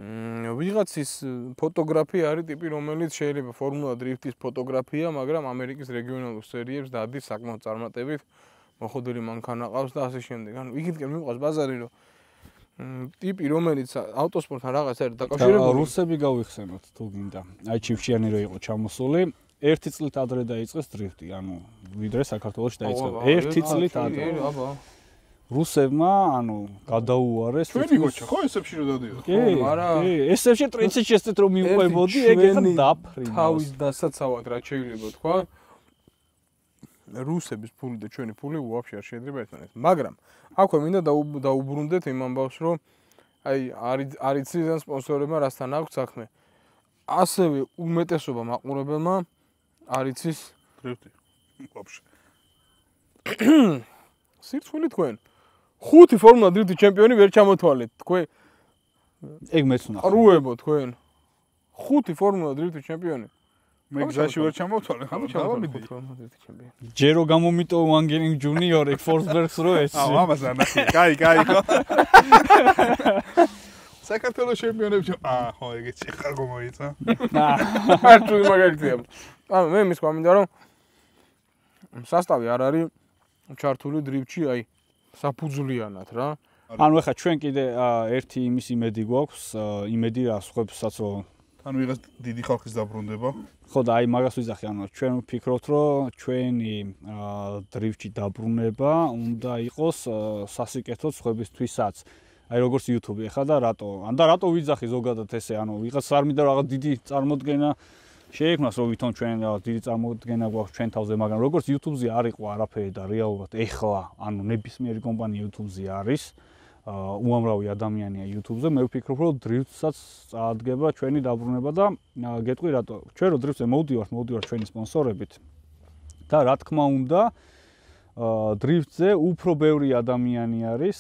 მმ ვიღაცის ფოტოგრაფი არის ტიპი, რომელიც შეიძლება ფორმულა დრიფტის ფოტოგრაფია, მაგრამ ამერიკის რეგიონალურ სერიებს დადის საკმაოდ წარმატებით, მოხდული მანქანა ყავს და ასე შემდეგ. ანუ იქითკენ მიყვავს ბაზარი, რომ ტიპი, რომელიც ავტოსპორტთან რაღაც არის დაკავშირებული. რუსები გავიხსენოთ თუ გინდა. აი ჩიფშიანი რო იყო ჩამოსული. ერთი წლით ადრე დაიწყეს დრიფტი, ანუ ვიდრე საქართველოში დაიწყო. ერთი წლით ადრე. აბა. რუსებმა, ანუ გადაუარეს. ჩვენი გოჩა ხო ესებში რო დადიოდა. კი, კი, ესებში ტრიცი შეცდეთ რომ მიუყვებოდი, ეგ ეხლა დაფრინავს. თავის დასაცავად რა შეიძლება თქვა. რუსების ფული და ჩვენი ფული უაფშე არ შეიძლება ერთმანეთს. მაგრამ აქვე მინდა დაუბრუნდეთ იმ ამბავს, რომ აი არის არის ძირიდან სპონსორებმა რასთან აქვს საქმე. ასევე უმეტესობა მაყურებელმა არიცის დრიფტი. უაფშე. სირცხვილი თქვენ. ხუთი ფორმულა დრიფტის ჩემპიონი ვერ ჩამოთვალეთ თქვენ. ეგ მეც ვნახე. ყრუებო თქვენ. ხუთი ფორმულა დრიფტის ჩემპიონი. მე გზაში ვერ ჩამოვთვალე, ხომ ჩამოვიდი. ფორმულა დრიფტის ჩემპიონი. ჯერო გამომიტო ვანგენინგ ჯუნიორი ფორსბერგს რო ეს. აუ ამას არ ნახე. კაი, კაი ხო. საქართველოს ჩემპიონებში აა ხო ეგეც ხარ გომოიცა. არ თუ მაგალითია. ანუ მე მის გვამინდა რომ სასტავი არ არის ჩართული დრიფტში, აი საფუძვლიანად რა. ანუ ეხლა ჩვენ კიდე ერთი იმის იმედი გვაქვს, იმედი რა სხვებსაც რომ ანუ ვიღაც დიდი ხალხის დაბრუნდება. ხო და აი მაგას ვიზახი, ანუ ჩვენ ვფიქრობთ, რომ ჩვენი დრიფტში დაბრუნება უნდა იყოს სასიკეთო სხვებისთვისაც. აი როგორც YouTube ეხა და რატო? ან და რატო ვიძახი ზოგადად ესე, ანუ ვიღაც არ მინდა რაღაც დიდი წარმოდგენა შეექმნას, რომ ვითომ ჩვენ რაღაც დიდი წარმოდგენა გვაქვს ჩვენ თავზე, მაგრამ როგორც YouTube-ზე არ იყო არაფერი და რეალურად ეხლა, ანუ ნებისმიერი კომპანია YouTube-ზე არის, უამრავი ადამიანია YouTube-ზე, მე ვფიქრობ, რომ დრიფტსაც წაადგება ჩვენი დაბრუნება და გეტყვი რატო? ჩვენ რო დრიფტზე მოვდივართ, მოვდივართ ჩვენი სპონსორებით და რა თქმა უნდა, დრიფტზე უფრო ბევრი ადამიანი არის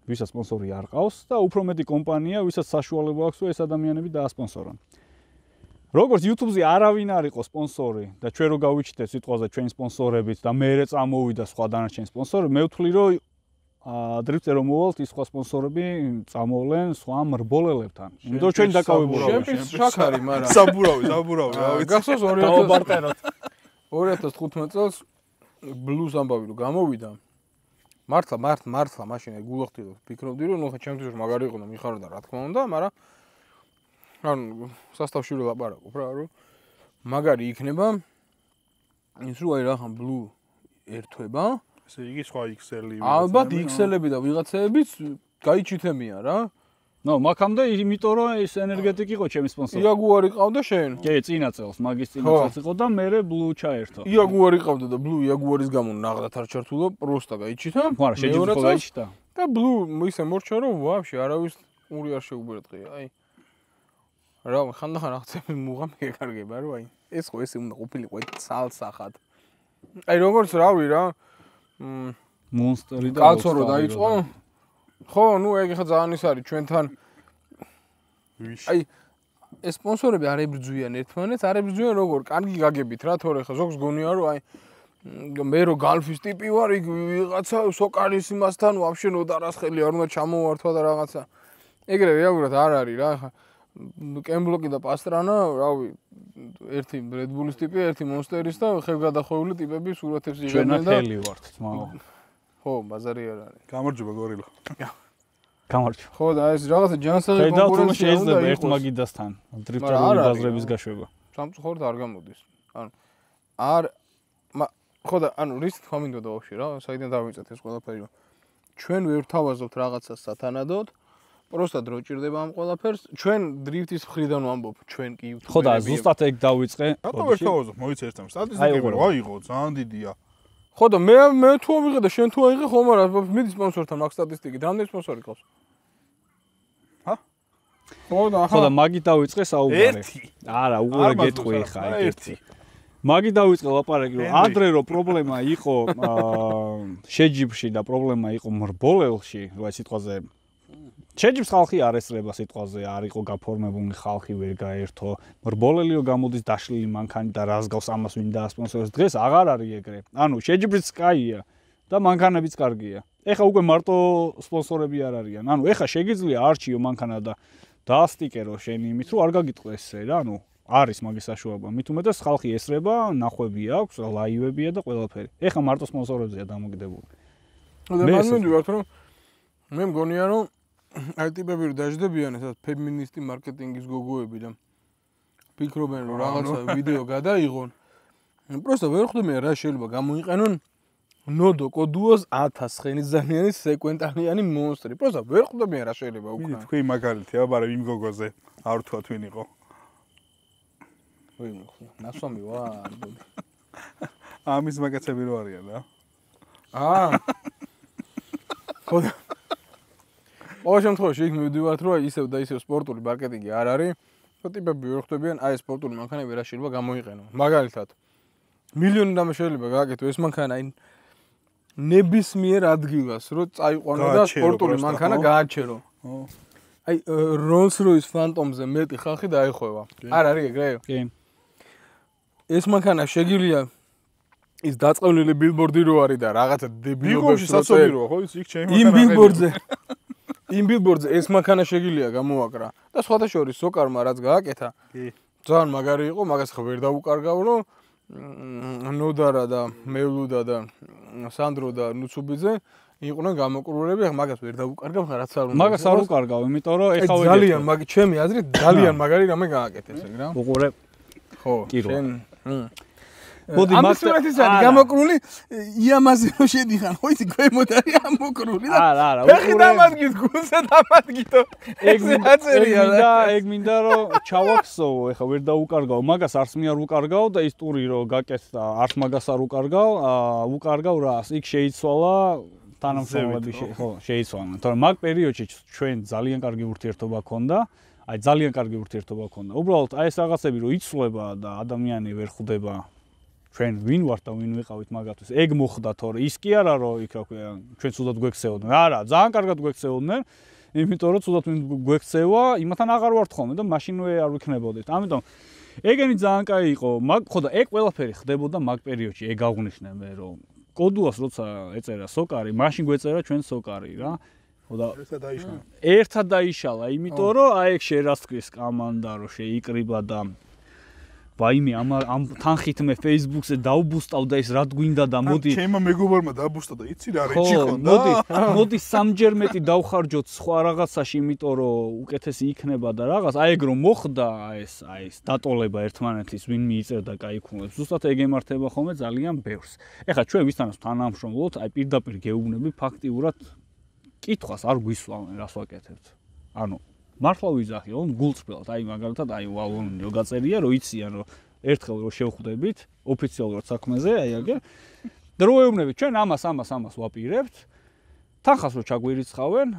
ვისაც სპონსორი არ ყავს და უფრო მეტი კომპანია, ვისაც საშუალება აქვს, რომ ეს ადამიანები დაასპონსორონ. როგორც YouTube-ზე არავინ არ იყო სპონსორი და ჩვენ რო გავიჩნდეთ სიტყვაზე ჩვენი სპონსორებით და მეერე წამოვიდა სხვა დანარჩენი სპონსორი, მე ვთვლი, რომ დრიფტზე რომ მოვალთ ის სხვა სპონსორები წამოვლენ სხვა მრბოლელებთან. იმიტომ ჩვენ დაკავებულები ჩემპიონს შაქარი, მაგრამ საბურავი, საბურავი, რა ვიცი. გახსოვს ორი ათას თხუთმეტ წელს ბლუს ამბავი რომ გამოვიდა. მართლა, მართლა, მართლა მაშინ გულახდი რომ ფიქრობდი რომ ნუ ხა ჩემთვის მაგარი იყო და მიხარდა რა თქმა უნდა, მაგრამ ანუ სასტავში რო ლაპარაკობ რა რომ მაგარი იქნება ის რო აი რახან ბლუ ერთვება ესე იგი სხვა იქსელი ალბათ იქსელები და ვიღაცეებიც გაიჩითებიან რა ნო მაგამდე იმიტომ რომ ეს ენერგეტიკ იყო ჩემი სპონსორი იაგუარი ყავდა შენ კი წინა წელს მაგის წინა წელს იყო და მე ბლუ ჩაერთო იაგუარი ყავდა და ბლუ იაგუარის გამო ნაღდათ არ ჩართულო პროსტა გაიჩითა მაგრამ შეჯიბრო გაიჩიტა და ბლუ ისე მორჩა რომ ვაფშე არავის ური არ შეუბრეთყია აი რა ხანდახან აღწევი მუღა მეკარგება რომ აი ეს ხო ესე უნდა ყოფილიყო ცალსახად აი როგორც რავი რა მონსტერი და კაცო რო დაიწყო ხო ნუ ეგ ხა ძალიან ის არის ჩვენთან აი ეს სპონსორები არ ებრძვიან ერთმანეთს არ ებრძვიან როგორ კარგი გაგებით რა თორე ხა ზოგს გონია რომ აი მე რო გალფის ტიპი ვარ იქ ვიღაცა სოკარის იმასთან ვაფშე ნოდარას ხელი არ უნდა ჩამოვართვა და რაღაცა ეგრე რეალურად არ არის რა ხა კემბლოკი და პასტრანა რავი ერთი რედბულის ტიპი ერთი მონსტერის და ხევგადახვეული ტიპები სურათებს იღებენ და ჩვენათელი ვართ თმაო ხო ბაზარი არ არის გამარჯობა გორილა გამარჯობა ხო და ეს რაღაცა ჯანსაღი კონკურენცია შეიძლება ერთ მაგიდასთან დრიფტერული ბაზრების გაშვება სამწუხაროდ არ გამოდის ანუ არ ხო და ანუ რის თქვა მინდოდა ვაფშე რა საიდან დავიწეთ ეს ყველაფერი ჩვენ ვერ თავაზობთ რაღაცას სათანადოდ просто დრო ჭირდება ამ ყველაფერს ჩვენ დრიფტის მხრიდან ვამბობ ჩვენ კი ხო და ზუსტად ეგ დავიწყე რატო ვერ თავაზობ მოიცე ერთამ სტატისტიკები რა იყო ძალიან დიდია ხო და მე მე თუ ავიღე და შენ თუ აიღე ხომ არა მიდი სპონსორთან მაგ სტატისტიკით რამდენი სპონსორი ყავს ჰა ხო და ხო და მაგი დავიწყე საუბარი ერთი არა უყურე გეტყვი ხა ერთი მაგი დავიწყე ლაპარაკი რომ ადრე რო პრობლემა იყო შეჯიბში და პრობლემა იყო მრბოლელში რა სიტყვაზე შეჯიბს ხალხი არ ესწრება სიტყვაზე არ იყო გაფორმებული ხალხი ვერ გაერთო მრბოლელი რო გამოდის დაშლილი მანქანი და რას გავს ამას ვინ დაასპონსორებს დღეს აღარ არის ეგრე ანუ შეჯიბრიც კაია და მანქანებიც კარგია ეხა უკვე მარტო სპონსორები არ არიან ანუ ეხა შეგიძლია არჩიო მანქანა და დაასტიკერო შენი იმით რომ არ გაგიტყვეს ესე რა ანუ არის მაგის საშუალება მით უმეტეს ხალხი ესწრება ნახვები აქვს ლაივებია და ყველაფერი ეხა მარტო სპონსორებზეა დამოკიდებული და მან მივიდივართ რომ მე მგონია რომ აი ტიპები რომ დაждდებიან ესა ფემინისტი მარკეტინგის გოგოები და ფიქრობენ რომ რაღაცა ვიდეო გადაიღონ просто ვერ ხვდები რა შეიძლება გამოიყენონ ნოდო კოდუოს ათას ხენისძანიანი სეკვენტალიანი მონსტრი просто ვერ ხვდები რა შეიძლება უკრა თქვი მაგალითია მაგრამ იმ გოგოზე არ თქვა თქვენ იყო ვი ნასვამი ვარ ამის მაგაცები რო არიან რა აა ხო ყოველ შემთხვევაში იქ მივდივართ რომ ისევ და ისევ სპორტული მარკეტინგი არ არის ხო ტიპები ვერ ხვდებიან აი სპორტული მანქანები რა შეიძლება გამოიყენონ მაგალითად მილიონი რამე შეიძლება გააკეთო ეს მანქანა აი ნებისმიერ ადგილას რო წაიყვანო და სპორტული მანქანა გააჩერო აი Rolls Royce Phantom-ზე მეტი ხალხი დაეხვევა არ არის ეგრე კი ეს მანქანა შეგიძლია ის დაწყევლილი ბილბორდი რო არის და რაღაცა დებილებებს საწოლიროა ხო ის იქ ჩემი მანქანა იმ ბილბორდზე იმ ბილბორდზე ეს მანქანა შეგიძლია გამოვაკრა და სხვათა შორის სოკარმა რაც გააკეთა კი ძალიან მაგარი იყო მაგას ხა ვერ დაუკარგავ რომ ნოდარა და მევლუდა და სანდრო და ნუცუბიძე იყვნენ გამოკრულები ახლა მაგას ვერ დაუკარგავ ხა რაც არ უნდა მაგას არ უკარგავ იმიტომ რომ ეხა ვერ ძალიან მაგ ჩემი აზრით ძალიან მაგარი რამე გააკეთეს ეგ რა უყურე ხო შენ მოდი მაგ სურათის არის გამოკრული იამაზე რო შედიხან ხო იცი ქვემოთ არის ამოკრული და არა არა ფეხი დამადგით გულზე დამადგითო ეგ მინდა და ეგ მინდა რომ ჩავაქსოვო ეხა ვერ დაუკარგავ მაგას არც მე არ უკარგავ და ის ტური რო გაკეთდა არც მაგას არ უკარგავ უკარგავ რას იქ შეიცვალა თანამშრომლები ხო შეიცვალა თორემ მაგ პერიოდში ჩვენ ძალიან კარგი ურთიერთობა ჰქონდა აი ძალიან კარგი ურთიერთობა ჰქონდა უბრალოდ აი ეს რაღაცები რო იცვლება და ადამიანი ვერ ხვდება ჩვენ ვინ ვართ და ვინ ვიყავით მაგათთვის ეგ მოხდა თორე ის კი არა რომ იქ რა ქვია ჩვენ ცუდად გვექცეოდნენ არა ძალიან კარგად გვექცეოდნენ იმიტომ რომ ცუდად გვექცევა იმათან აღარ ვართ ხოლმე და მაშინვე არ ვიქნებოდით ამიტომ ეგენი ძალიან კაი იყო მაგ ხო და ეგ ყველაფერი ხდებოდა მაგ პერიოდში ეგ აღვნიშნე მე რომ კოდუას როცა ეწერა სოკარი, მაშინ გვეწერა ჩვენ სოკარი რა. და ერთად დაიშალა. ერთად დაიშალა, იმიტომ რომ აი ეგ შერასტრის კამანდა რომ შეიკრიბა და ვაიმე ამ ამ თანხით მე Facebook-ზე დავბუსტავ და ის რა გვინდა და მოდი ჩემმა მეგობარმა დაბუსტა და იცი რა რეჩი ხონდა. მოდი, მოდი სამჯერ მეტი დავხარჯოთ სხვა რაღაცაში, იმიტომ რომ უკეთესი იქნება და რაღაც, აი ეგ რომ მოხდა, აი ეს, აი ეს დატოლება ერთმანეთის ვინ მიიწერდა კაი ქულებს. ზუსტად ეგ ემართება ხოლმე ძალიან ბევრს. ეხლა ჩვენ ვისთანაც თანამშრომლობთ, აი პირდაპირ გეუბნები ფაქტიურად კითხვას არ გვისვამენ, რას ვაკეთებთ. ანუ მართლა ვიზახიო, გულწრფელად, აი მაგალითად, აი ვალონიო გაწერია, რომ იციან, რომ ერთხელ რომ შევხვდებით ოფიციალურად საქმეზე, აი აგერ. და რო ეუბნებით, ჩვენ ამას, ამას, ამას ვაპირებთ. თანხას რო ჩაგვირიცხავენ,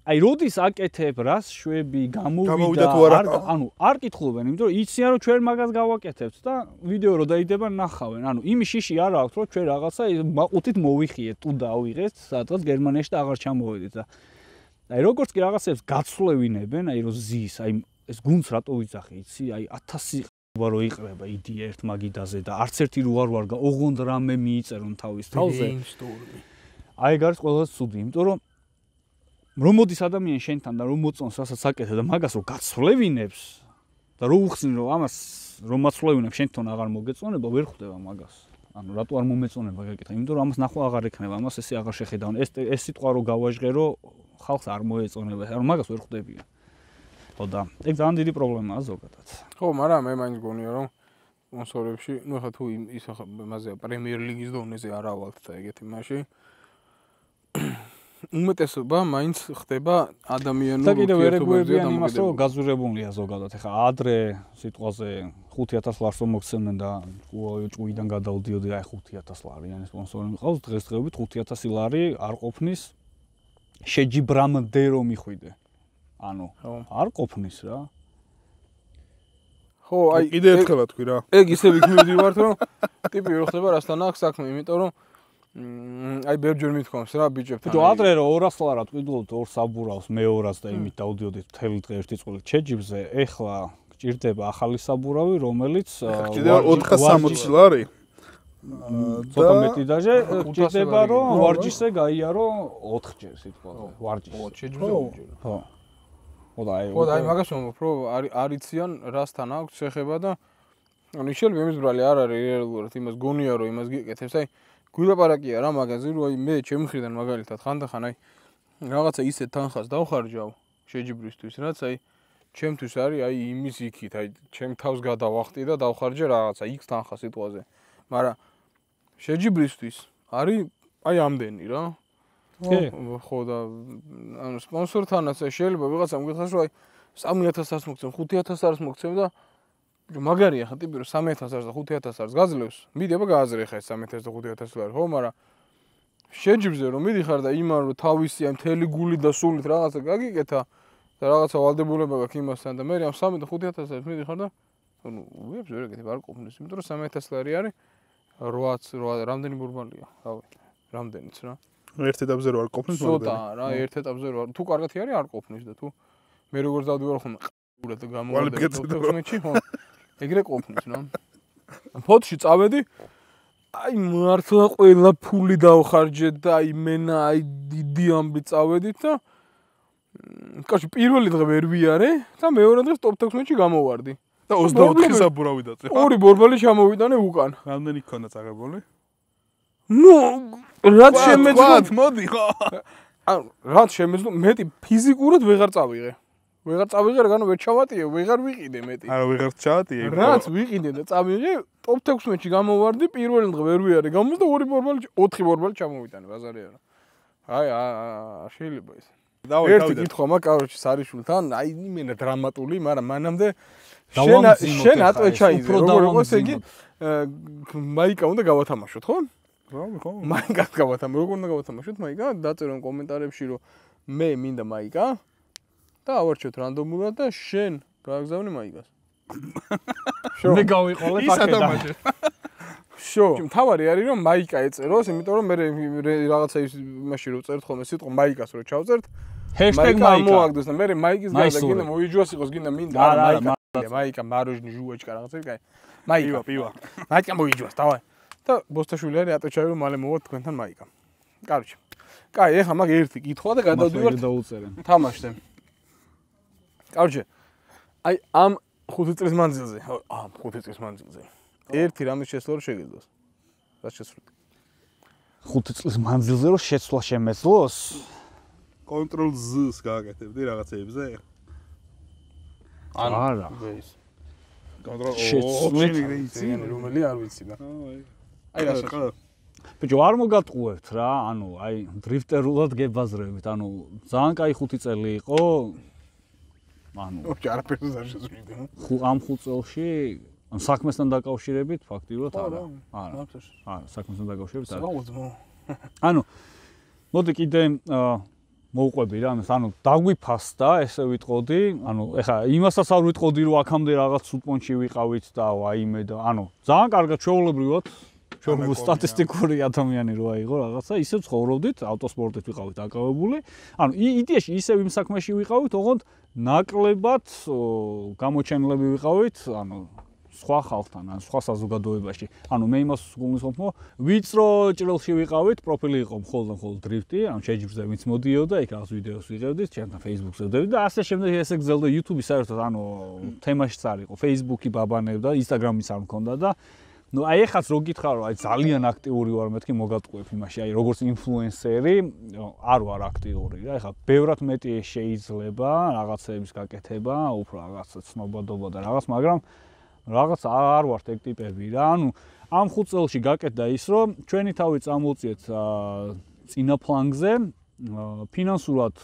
აი როდის აკეთებ, რას შვები, გამოვიდა, არ ანუ არ კითხულობენ, იმიტომ რომ იციან, რომ ჩვენ მაგას გავაკეთებთ და ვიდეო რო დაიდება ნახავენ. ანუ იმის შიში არ აქვს, რომ ჩვენ რაღაცა მაყუთით მოვიხიეთ, თუ დავიღეთ, სადღაც გერმანიაში და აღარ ჩამოვედით და აი როგორც კი რაღაცებს გაცვლევინებენ, აი რომ ზის, აი ეს გუნდს რატო ვიძახი, იცი, აი ათასი ყობა რო იყრება იდეა ერთ მაგიდაზე და არც ერთი რო არ ვარგა, ოღონდ რამე მიიწერონ თავის თავზე. აი ეგ არის ყველაზე ცუდი, იმიტომ რომ რომ მოდის ადამიანი შენთან და რომ მოწონს რასაც აკეთებ და მაგას რო გაცვლევინებს და რო უხსნი რომ ამას რომ მაცვლევინებ შენთან აღარ მოგეწონება, ვერ ხვდება მაგას. ანუ რატო არ მომეწონება გაკითხა, იმიტომ რომ ამას ნახვა აღარ ექნება, ამას ესე აღარ შეხედავენ. ეს ეს სიტყვა რო გავაჟღერო, ხალხს არ მოეწონება, ანუ მაგას ვერ ხვდებიან. ხო და ეგ ძალიან დიდი პრობლემაა ზოგადად. ხო, მაგრამ მე მაინც გონია რომ სპონსორებში, ну ხა თუ ის ხა მასე პრემიერ ლიგის დონეზე არავალთ და ეგეთი მაშინ უმეტესობა მაინც ხდება ადამიანურ და კიდევ ერეგუებიან იმას, რომ გაზურებულია ზოგადად. ეხლა ადრე სიტყვაზე ხუთი ათას ლარს მოგცემდნენ და ჭუიდან გადავდიოდი, აი ხუთი ათას ლარიანი სპონსორი მიყავს, დღესდღეობით ხუთი ათასი ლარი არ ყოფნის შეჯიბრამდე რომ მიხვიდე. ანუ არ ყოფნის რა. ხო, აი კიდე ერთხელ თქვი რა. ეგ ისე ვიქმნივართ, რომ ტიპი რო ხდება რასთან აქვს საქმე, იმიტომ რომ აი ბევრჯერ მithქვამს რა ბიჭებთან. ბიჭო, ადრე რომ ორას ლარად ყიდულობთ ორ საბურავს, მეორას და იმით დავდიოდით მთელი დღე ერთი წყვილით შეჯიბრზე, ეხლა გჭირდება ახალი საბურავი, რომელიც გჭირდება ოთხას სამოცი ლარი. ცოტა მეტი დაჟე გჭირდება რომ ვარჯიშზე გაიარო ოთხჯერ სიტყვაზე, ვარჯიშზე. შეჯიბრზე ოთხჯერ. ხო. ხო და აი ხო და აი მაგას ვამბობ, რომ არ იციან რასთან აქვს შეხება და ანუ ისე იმის ბრალი არ არის რეალურად იმას გონია რომ იმას გიკეთებს, აი გულაპარაკია რა მაგაზე, რომ აი მე ჩემი მხრიდან მაგალითად ხანდახან აი რაღაცა ისე თანხას დავხარჯავ შეჯიბრისთვის, რაც აი ჩემთვის არის აი იმის იქით, აი ჩემ თავს გადავახტი და დავხარჯე რაღაცა X თანხა სიტყვაზე. მაგრამ შეჯიბრისთვის არის აი ამდენი რა. ხო და ანუ სპონსორთანაც შეიძლება ვიღაცამ გიხსნას რომ აი სამი ათას არს მოგცემ, ხუთი ათას არს მოგცემ და მაგარია ხა ტიპი რომ სამი ათას არს და ხუთი ათას არს გაძლევს, მიდი აბა გააზრე ხა ეს სამი ათას და ხუთი ათას ლარი, ხო, მაგრამ შეჯიბრზე რომ მიდიხარ და იმან რომ თავისი ამ მთელი გული და სულით რაღაცა გაგიკეთა და რაღაცა ვალდებულება გაქვს იმასთან და მე ამ სამი და ხუთი ათას არს მიდიხარ და ანუ უებს ვერ ეგეთი არ ყოფნის, იმიტომ რომ სამი ათას ლარი არის რვაც რამდენი ბურბალია, რავი, რამდენიც რა. ერთ ეტაპზე რო არ ყოფნის მაგდენი. ცოტა რა, ერთ ეტაპზე რო თუ კარგად არის არ ყოფნის და თუ მე როგორც დავდივარ ხოლმე ყურად გამოვიდა თოთხმეტში, ხო. ეგრე ყოფნის რა. ფოთში წავედი, აი მართლა ყველა ფული დავხარჯე და აი მენა აი დიდი ამბი წავედით და კაცი პირველი დღე ვერ ვიარე და მეორე დღეს ტოპ თექვსმეტში გამოვარდი. და ოცდაოთხი საბურავი დაწე. ორი ბორბალი ჩამოვიტანე უკან. რამდენი გქონდა წაღებული? ნუ რაც შემეძლო მოდი ხო. ანუ რაც შემეძლო მეტი ფიზიკურად ვეღარ წავიღე. ვეღარ წავიღე, რადგან ვერ ჩავატიე, ვეღარ ვიყიდე მეტი. არა, ვეღარ ჩავატიე. რაც ვიყიდე და წავიღე, ტოპ თექვსმეტში გამოვარდი, პირველი დღე ვერ ვიარე, გამოსდა ორი ბორბალი, ოთხი ბორბალი ჩამოვიტანე, ბაზარი არა. აი, აა, შეიძლება ის. ერთი კითხვა მაქვს, კაროჩი, სარიშულთან, აი, იმენა დრამატული, მაგრამ მანამდე შენ შენ ატვეჩა იზე, როგორ იყოს იგი, მაიკა უნდა გავათამაშოთ, ხო? რა, ხო. მაიკას გავათამაშოთ, როგორ უნდა გავათამაშოთ მაიკა? დაწერონ კომენტარებში, რომ მე მინდა მაიკა და ავარჩიოთ რანდომულად და შენ გააგზავნე მაიკას. მე გავიყოლე პაკეტა. შო, თავარი არის რომ მაიკა ეწეროს, იმიტომ რომ მე რაღაცა იმაში რომ წერთ ხოლმე სიტყვა მაიკას რო ჩავწერთ. #მაიკა მოაგდეს და მე მაიკის გარდა გინდა მოიჯვას იყოს გინდა მინდა არა მაიკა მაიკა მაროჟნი ჟუაჩკა რაღაცა კაი. მაიკა, პივა. მაიკა მოიჯვას, დავაი. და ბოსტაშვილი არის ატოჩავი რომ მალე მოვა თქვენთან მაიკა. კაროჩე. კაი, ეხლა მაგ ერთი კითხვა და გადავდივართ დაუწერენ. თამაშზე. კაროჩე. აი ამ ხუთი წლის მანძილზე, ამ ხუთი წლის მანძილზე. ერთი რამის შესვლა რო შეგეძლოს. რაც შესრულდა. ხუთი წლის მანძილზე რო შეცვლა შემეძლოს? კონტროლ Z-ს გააკეთებდი რაღაცეებზე? არა. კონტროლ შეცვლით რომელი არ ვიცი და. აი რა ბიჭო არ მოგატყუებთ რა, ანუ აი დრიფტერულად გებაზრებით, ანუ ძალიან კაი ხუთი წელი იყო. ანუ ოჩ არაფერს არ შეძვიდი. ამ ხუთ წელში ან საქმესთან დაკავშირებით ფაქტიურად არა. არა. არა, საქმესთან დაკავშირებით არა. ანუ მოდი კიდე მოვყვები რა, ანუ დაგვიფასდა, ესე ვიტყოდი, ანუ ეხლა იმასაც არ ვიტყოდი, რომ აქამდე რაღაც სუპონჩი ვიყავით და ვაიმე და ანუ ძალიან კარგად ჩვეულებრივად ჩვენ სტატისტიკური ადამიანი რო აიღო რაღაცა, ისე ცხოვრობდით, ავტოსპორტით ვიყავით დაკავებული. ანუ იდეაში ისევ იმ საქმეში ვიყავით, ოღონდ ნაკლებად გამოჩენილები ვიყავით, ანუ სხვა ხალხთან, ან სხვა საზოგადოებაში. ანუ მე იმას გულისხმობ, რომ ვიწრო ჭრილში ვიყავით, პროფილი იყო მხოლოდ და მხოლოდ დრიფტი, ანუ შეჯიბრზე ვინც მოდიოდა, იქ რაღაც ვიდეოს ვიღებდით, ჩემთან Facebook-ზე ვდევდით და ასე შემდეგ ესე გრძელდა YouTube-ი საერთოდ, ანუ თემაშიც არ იყო, Facebook-ი ბაბანებდა, Instagram-იც არ მქონდა და ну აი ეხაც რო გითხრა რომ აი ძალიან აქტიური ვარ მეთქი მოგატყუებ იმაში აი როგორც ინფლუენსერი არ ვარ აქტიური რა ეხა ბევრად მეტი შეიძლება რაღაცების გაკეთება უფრო რაღაც ცნობადობა და რაღაც მაგრამ რაღაც არ ვართ ეგ ტიპები რა ანუ ამ ხუთ წელში გაკეთდა ის რომ ჩვენი თავი წამოვწიეთ წინა ფლანგზე ფინანსურად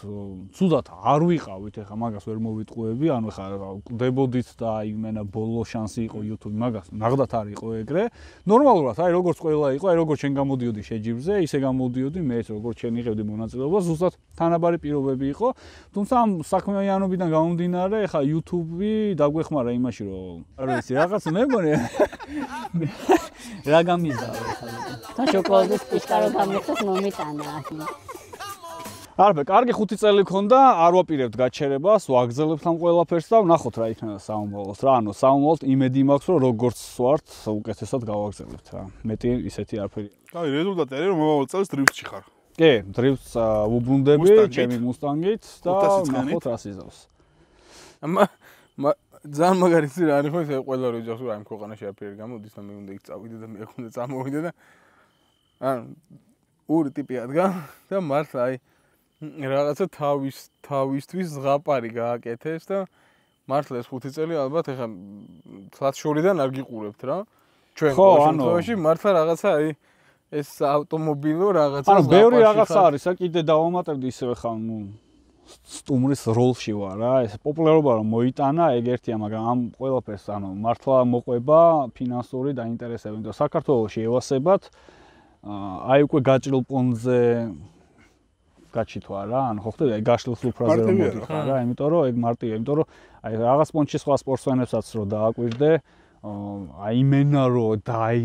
ცუდად არ ვიყავით ეხა მაგას ვერ მოვიტყუები ანუ ეხა დებოდით და იმენა ბოლო შანსი იყო YouTube მაგას ნაღდათ არ იყო ეგრე ნორმალურად აი როგორც ყველა იყო აი როგორც შენ გამოდიოდი შეჯიბრზე ისე გამოდიოდი მეც როგორც შენ იღებდი მონაწილეობას ზუსტად თანაბარი პირობები იყო თუმცა ამ საქმიანობიდან გამომდინარე ეხა YouTube-ი დაგვეხმარა იმაში რომ არ ვიცი რაღაც მე მგონი რა გამიზავა ეხა და შოკოლადის პიშკარო გამიხსეს მომიტანა არა, კარგი ხუთი წელი ქონდა, არ ვაპირებთ გაჩერებას, ვაგრძელებთ ამ ყველაფერს და ვნახოთ რა იქნება საომრალოდ. რა, ანუ საომრალოდ იმედი მაქვს, რომ როგორც ვართ, უკეთესად გავაგრძელებთ რა. მეტი ისეთი არაფერი. კაი, რეზულტატი არის რომ მომავალ წელს დრიფტში ხარ. კი, დრიფტს ვუბრუნდები, ჩემი მუსტანგით და ვნახოთ რა სიზავს. ამა ძალიან მაგარი ცირა არის ხო ეს ყველა რო ჯახს რა იმ ქვეყანაში არაფერი გამოდის და მე უნდა იქ წავიდე და მე აქ უნდა წამოვიდე და ანუ ორი ტიპი ადგა და მართლა აი რაღაცა თავის თავისთვის ზღაპარი გააკეთეს და მართლა ეს ხუთი წელი ალბათ ეხა ცლად შორიდან არ გიყურებთ რა ჩვენ შემთხვევაში მართლა რაღაცა აი ეს ავტომობილო რაღაცა ანუ ბევრი რაღაცა არის ა კიდე დავამატებდი ისევ ხა ნუ სტუმრის როლში ვარ რა ეს პოპულარობა რომ მოიტანა ეგ ერთია მაგრამ ამ ყველაფერს ანუ მართლა მოყვება ფინანსური დაინტერესება იმიტომ საქართველოში ევასებად აი უკვე გაჭრილ პონზე გაჩითვა რა, ანუ ხო ხდება, აი გაშლილ სუფრაზე რომ მოდიხარ რა, იმიტომ რომ ეგ მარტივია, იმიტომ რომ აი რაღაც პონჩი სხვა სპორტსმენებსაც რო დააკვირდე, აი იმენა რომ და აი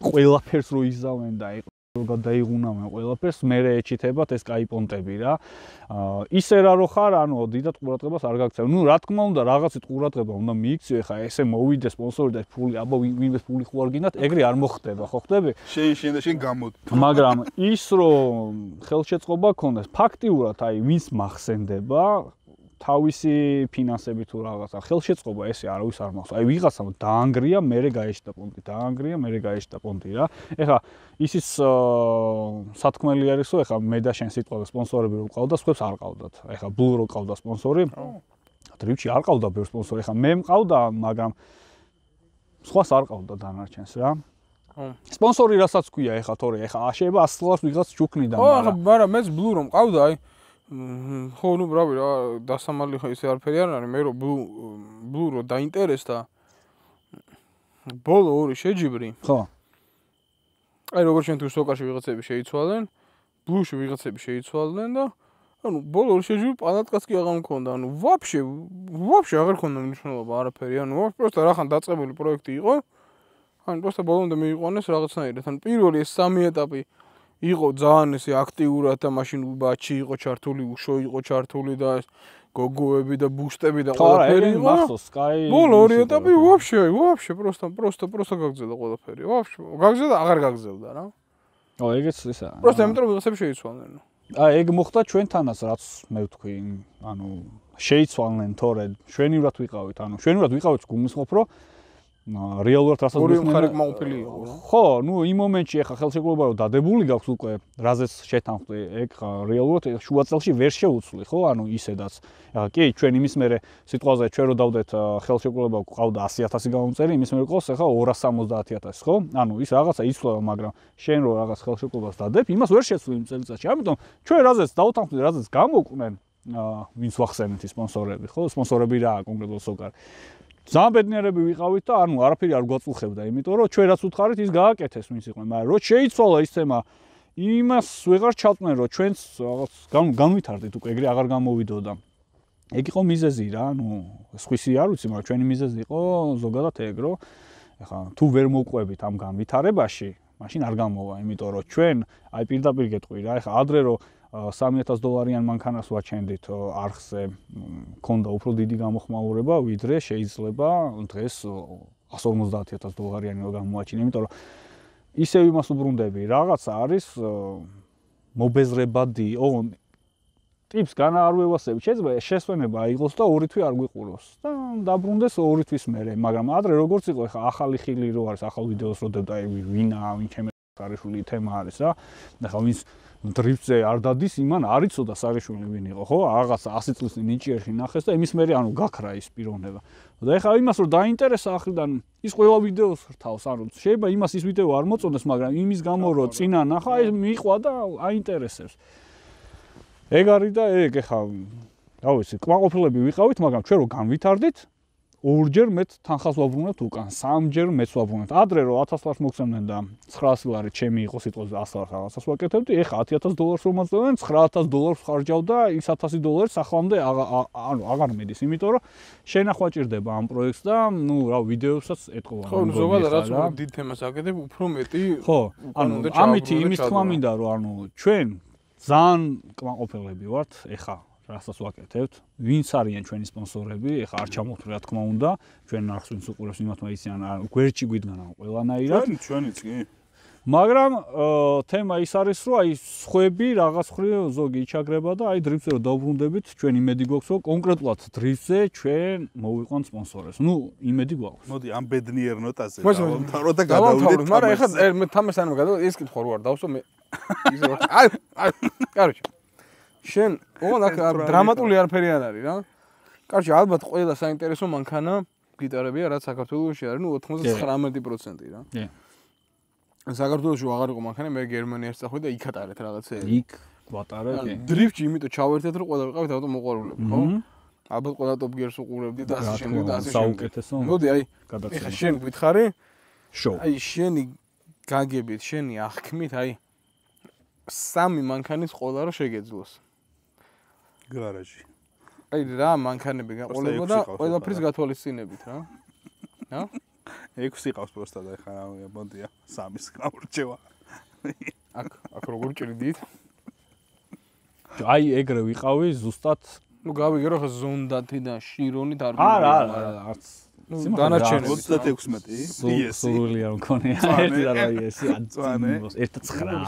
ყველაფერს რო იზავენ და აი რო გადაიღუნავენ ყველაფერს, მერე ეჩითებათ ეს კაი პონტები რა. ისე რა რო ხარ, ანუ დიდად ყურადღებას არ გაქცევ. ნუ რა თქმა უნდა, რაღაცით ყურადღება უნდა მიიქციო, ეხა ესე მოვიდე სპონსორი და ფული, აბა ვინმე ფული ხო არ გინდათ, ეგრე არ მოხდება, ხო ხდები? შენ შენ და შენ გამოდი. მაგრამ ის რომ ხელშეწყობა ქონდეს, ფაქტიურად აი ვინც მახსენდება თავისი ფინანსები თუ რაღაცა ხელშეწყობა ესე არავის არ მახსოვს. აი ვიღაცამ დაანგრია, მერე გაეშტა პონტი, დაანგრია, მერე გაეშტა პონტი რა. ეხა ისიც სათქმელი არის, რომ ეხა მე და შენ სიტყვა სპონსორები რო ყავდა, სხვებს არ ყავდათ. ეხა ბლუ რო ყავდა სპონსორი. დრიფტში არ ყავდა ბევრი სპონსორი, ეხა მე მყავდა, მაგრამ სხვას არ ყავდა დანარჩენს რა. სპონსორი რასაც ქვია ეხა თორე ეხა შეიძლება ასი ლარს ვიღაც ჩუქნიდა, მაგრამ ხო, მაგრამ მეც ბლუ რომ ყავდა, აი ხო, ნუ ბრავი რა, დასამალი ხო ისე არაფერი არ არის, მე რომ ბლუ ბლუ რო დაინტერესდა ბოლო ორი შეჯიბრი. ხო. აი როგორც ჩვენ თუ სოკაში ვიღაცები შეიცვალენ, ბლუში ვიღაცები შეიცვალდნენ და ანუ ბოლო ორი შეჯიბრი პანატკაც კი აღარ მქონდა, ანუ ვაფშე ვაფშე აღარ ქონდა მნიშვნელობა არაფერი, ანუ პროსტა რახან დაწყებული პროექტი იყო. ანუ პროსტა ბოლომდე მიიყვანეს რაღაცნაირად, ანუ პირველი ეს სამი ეტაპი იყო ძალიან ესე აქტიურად და მაშინ ბაჩი იყო ჩართული, უშო იყო ჩართული და გოგოები და ბუშტები და ხო არა, ყველაფერი ეგ იყო. მახსოვს, Sky. ბოლო ორი ეტაპი вообще, вообще просто просто просто გაგზელდა ყველაფერი. вообще გაგზელდა, აღარ გაგზელდა რა. ო, ეგეც ისა. просто იმიტომ რომ ვიღაცები შეიცვალნენ. აი, ეგ მოხდა ჩვენთანაც, რაც მე ვთქვი, ანუ შეიცვალნენ თორე შვენივრად ვიყავით, ანუ შვენივრად ვიყავით გულისხმობ, რომ რეალურად რასაც ორი მხარე კმაყოფილი იყო. ხო, ნუ იმ მომენტში ახლა ხელშეკრულება რომ დადებული გაქვს უკვე, რაზეც შეთანხმდი, ეგ რეალურად შუა წელში ვერ შეუცვლი, ხო? ანუ ისედაც. ახლა კი, ჩვენ იმის მერე სიტყვაზე ჩვენ რო დავდეთ ხელშეკრულება გვყავდა ასი ათასი გამომწერი, იმის მერე ყავს ახლა ორას სამოცდაათი ათასი, ხო? ანუ ის რაღაცა იცვლება, მაგრამ შენ რო რაღაც ხელშეკრულებას დადებ, იმას ვერ შეცვლი იმ წელიწადში. ამიტომ ჩვენ რაზეც დავთანხმდით, რაზეც გამოკვნენ, ვინც ვახსენეთ სპონსორები, ხო? სპონსორები რა კონკრეტულად სოკარ. ძალიან ბედნიერები ვიყავით და ანუ არაფერი არ გვაწუხებდა, იმიტომ რომ ჩვენ რაც უთხარით ის გააკეთეს ვინც იყვნენ, მაგრამ რო შეიცვალა ის თემა, იმას ვეღარ ჩავწნენ, რომ ჩვენც რაღაც განვითარდით უკვე ეგრე აღარ გამოვიდოდა. ეგ იყო მიზეზი რა, ну, სხვისი არ ვიცი, მაგრამ ჩვენი მიზეზი იყო ზოგადად ეგ, რომ ეხლა თუ ვერ მოყვებით ამ განვითარებაში, მაშინ არ გამოვა, იმიტომ რომ ჩვენ აი პირდაპირ გეტყვი რა, ეხლა ადრე რომ სამი ათას დოლარიან მანქანას ვაჩენდით არხზე, მქონდა უფრო დიდი გამოხმაურება, ვიდრე შეიძლება დღეს εκατს ორმოცდაათი ათას დოლარიანი რო გამოაჩინე, იმიტომ რომ ისევ იმას უბრუნდები, რაღაცა არის მობეზრებადი, ო ტიპს განა არ ვევასები, შეიძლება შესვენება აიღოს და ორი თვე არ გვიყუროს და დაბრუნდეს ორი თვის მერე, მაგრამ ადრე როგორც იყო, ეხა ახალი ხილი რო არის, ახალ ვიდეოს რო დებ და აი ვინა, ვინ ჩემი სარიშვილი თემა არის რა. ეხა ვინც დრიფტზე არ დადის, იმან არ იცოდა სარიშვილი ვინ იყო, ხო? რაღაცა ასი წლის ნიჭიერში ნახეს და იმის მერე ანუ გაქრა ის პიროვნება. და ეხლა იმას რომ დაინტერესა ახრიდან ის ყველა ვიდეოს რთავს, ანუ შეიძლება იმას ის ვიდეო არ მოწონდეს, მაგრამ იმის გამო რომ წინა ნახა, ეს მიყვა და აინტერესებს. ეგ არის და ეგ ეხლა რა ვიცი, კმაყოფილები ვიყავით, მაგრამ ჩვენ რო განვითარდით, ორჯერ მეც თანხას ვაბრუნებთ უკან, სამჯერ მეც ვაბრუნებთ. ადრე რომ ათას ლარს მოგცემდნენ და ცხრაასი ლარი ჩემი იყო სიტყვაზე ას ლარს რაღაცას ვაკეთებდი, ეხლა ათი ათას დოლარს რომ მოწევენ, ცხრა ათას დოლარს ხარჯავ და ის ათასი დოლარი ახლამდე ანუ აღარ მედის, იმიტომ რომ შენახვა ჭირდება ამ პროექტს და ნუ რა ვიდეოსაც ეტყობა. ხო, ზოგადად რაც უფრო დიდ თემას აკეთებ, უფრო მეტი ხო, ანუ ამით იმის თქმა მინდა რომ ანუ ჩვენ ძალიან კმაყოფილები ვართ ეხლა რასაც ვაკეთებთ, ვინც არიან ჩვენი სპონსორები, ეხლა არ ჩამოვთვლი რა თქმა უნდა, ჩვენ არხს ვინც უყურებს იმათმა იციან, გვერდში გვიდგან ყველანაირად. ჩვენი ჩვენიც კი. მაგრამ თემა ის არის, რომ აი სხვები რაღაც ხრი ზოგი იჩაგრება და აი დრიფტზე რომ დავბრუნდებით, ჩვენ იმედი გვაქვს, რომ კონკრეტულად დრიფტზე ჩვენ მოვიყვანთ სპონსორებს. ნუ იმედი გვაქვს. მოდი ამ ბედნიერ ნოტაზე დავამთავრო და გადავიდეთ. მაგრამ ეხლა მე თამას ანუ გადავ ეს კითხვა რო არ დავსო მე ისე ვარ. აი, აი, კაროჩი. შენ ოღონდ აქ დრამატული არაფერი არ არის რა. კაროჩი, ალბათ ყველა საინტერესო მანქანა გიტარებია, რაც საქართველოში არის, ნუ ოცდათხმეტი პროცენტი რა. კი. საქართველოში აღარ იყო მანქანა, მე გერმანიაში წახვედი და იქ ატარეთ რაღაცები. იქ ვატარე, კი. დრიფტში იმიტომ ჩავერთეთ, რომ ყველა ვიყავით ავტო მოყვარულები, ხო? ალბათ ყველა Top Gear-ს უყურებდი და ასე შემდეგ და ასე შემდეგ. საუკეთესო. მოდი, აი, ეხლა შენ გითხარი, შოუ. აი შენი გაგებით, შენი აღქმით, აი სამი მანქანის ყოლა რა შეგეძლოს. გარაჟი. აი რა მანქანები გაყოლებოდა და ყველაფრის გათვალისწინებით რა. რა? ექვსი ყავს პროსტა და ეხლა მოდია სამის გამორჩევა. აქ აქ როგორ ჭრიდით? აი ეგრე ვიყავი ზუსტად. ნუ გავიგე რომ ხა ზონდათი და შირონით არ ვიყავი. არა, არა, არც. დანარჩენი ოცდათექვსმეტი. იესი. სრული არ მქონია. ერთი და რა იესი. ერთი ცხრა.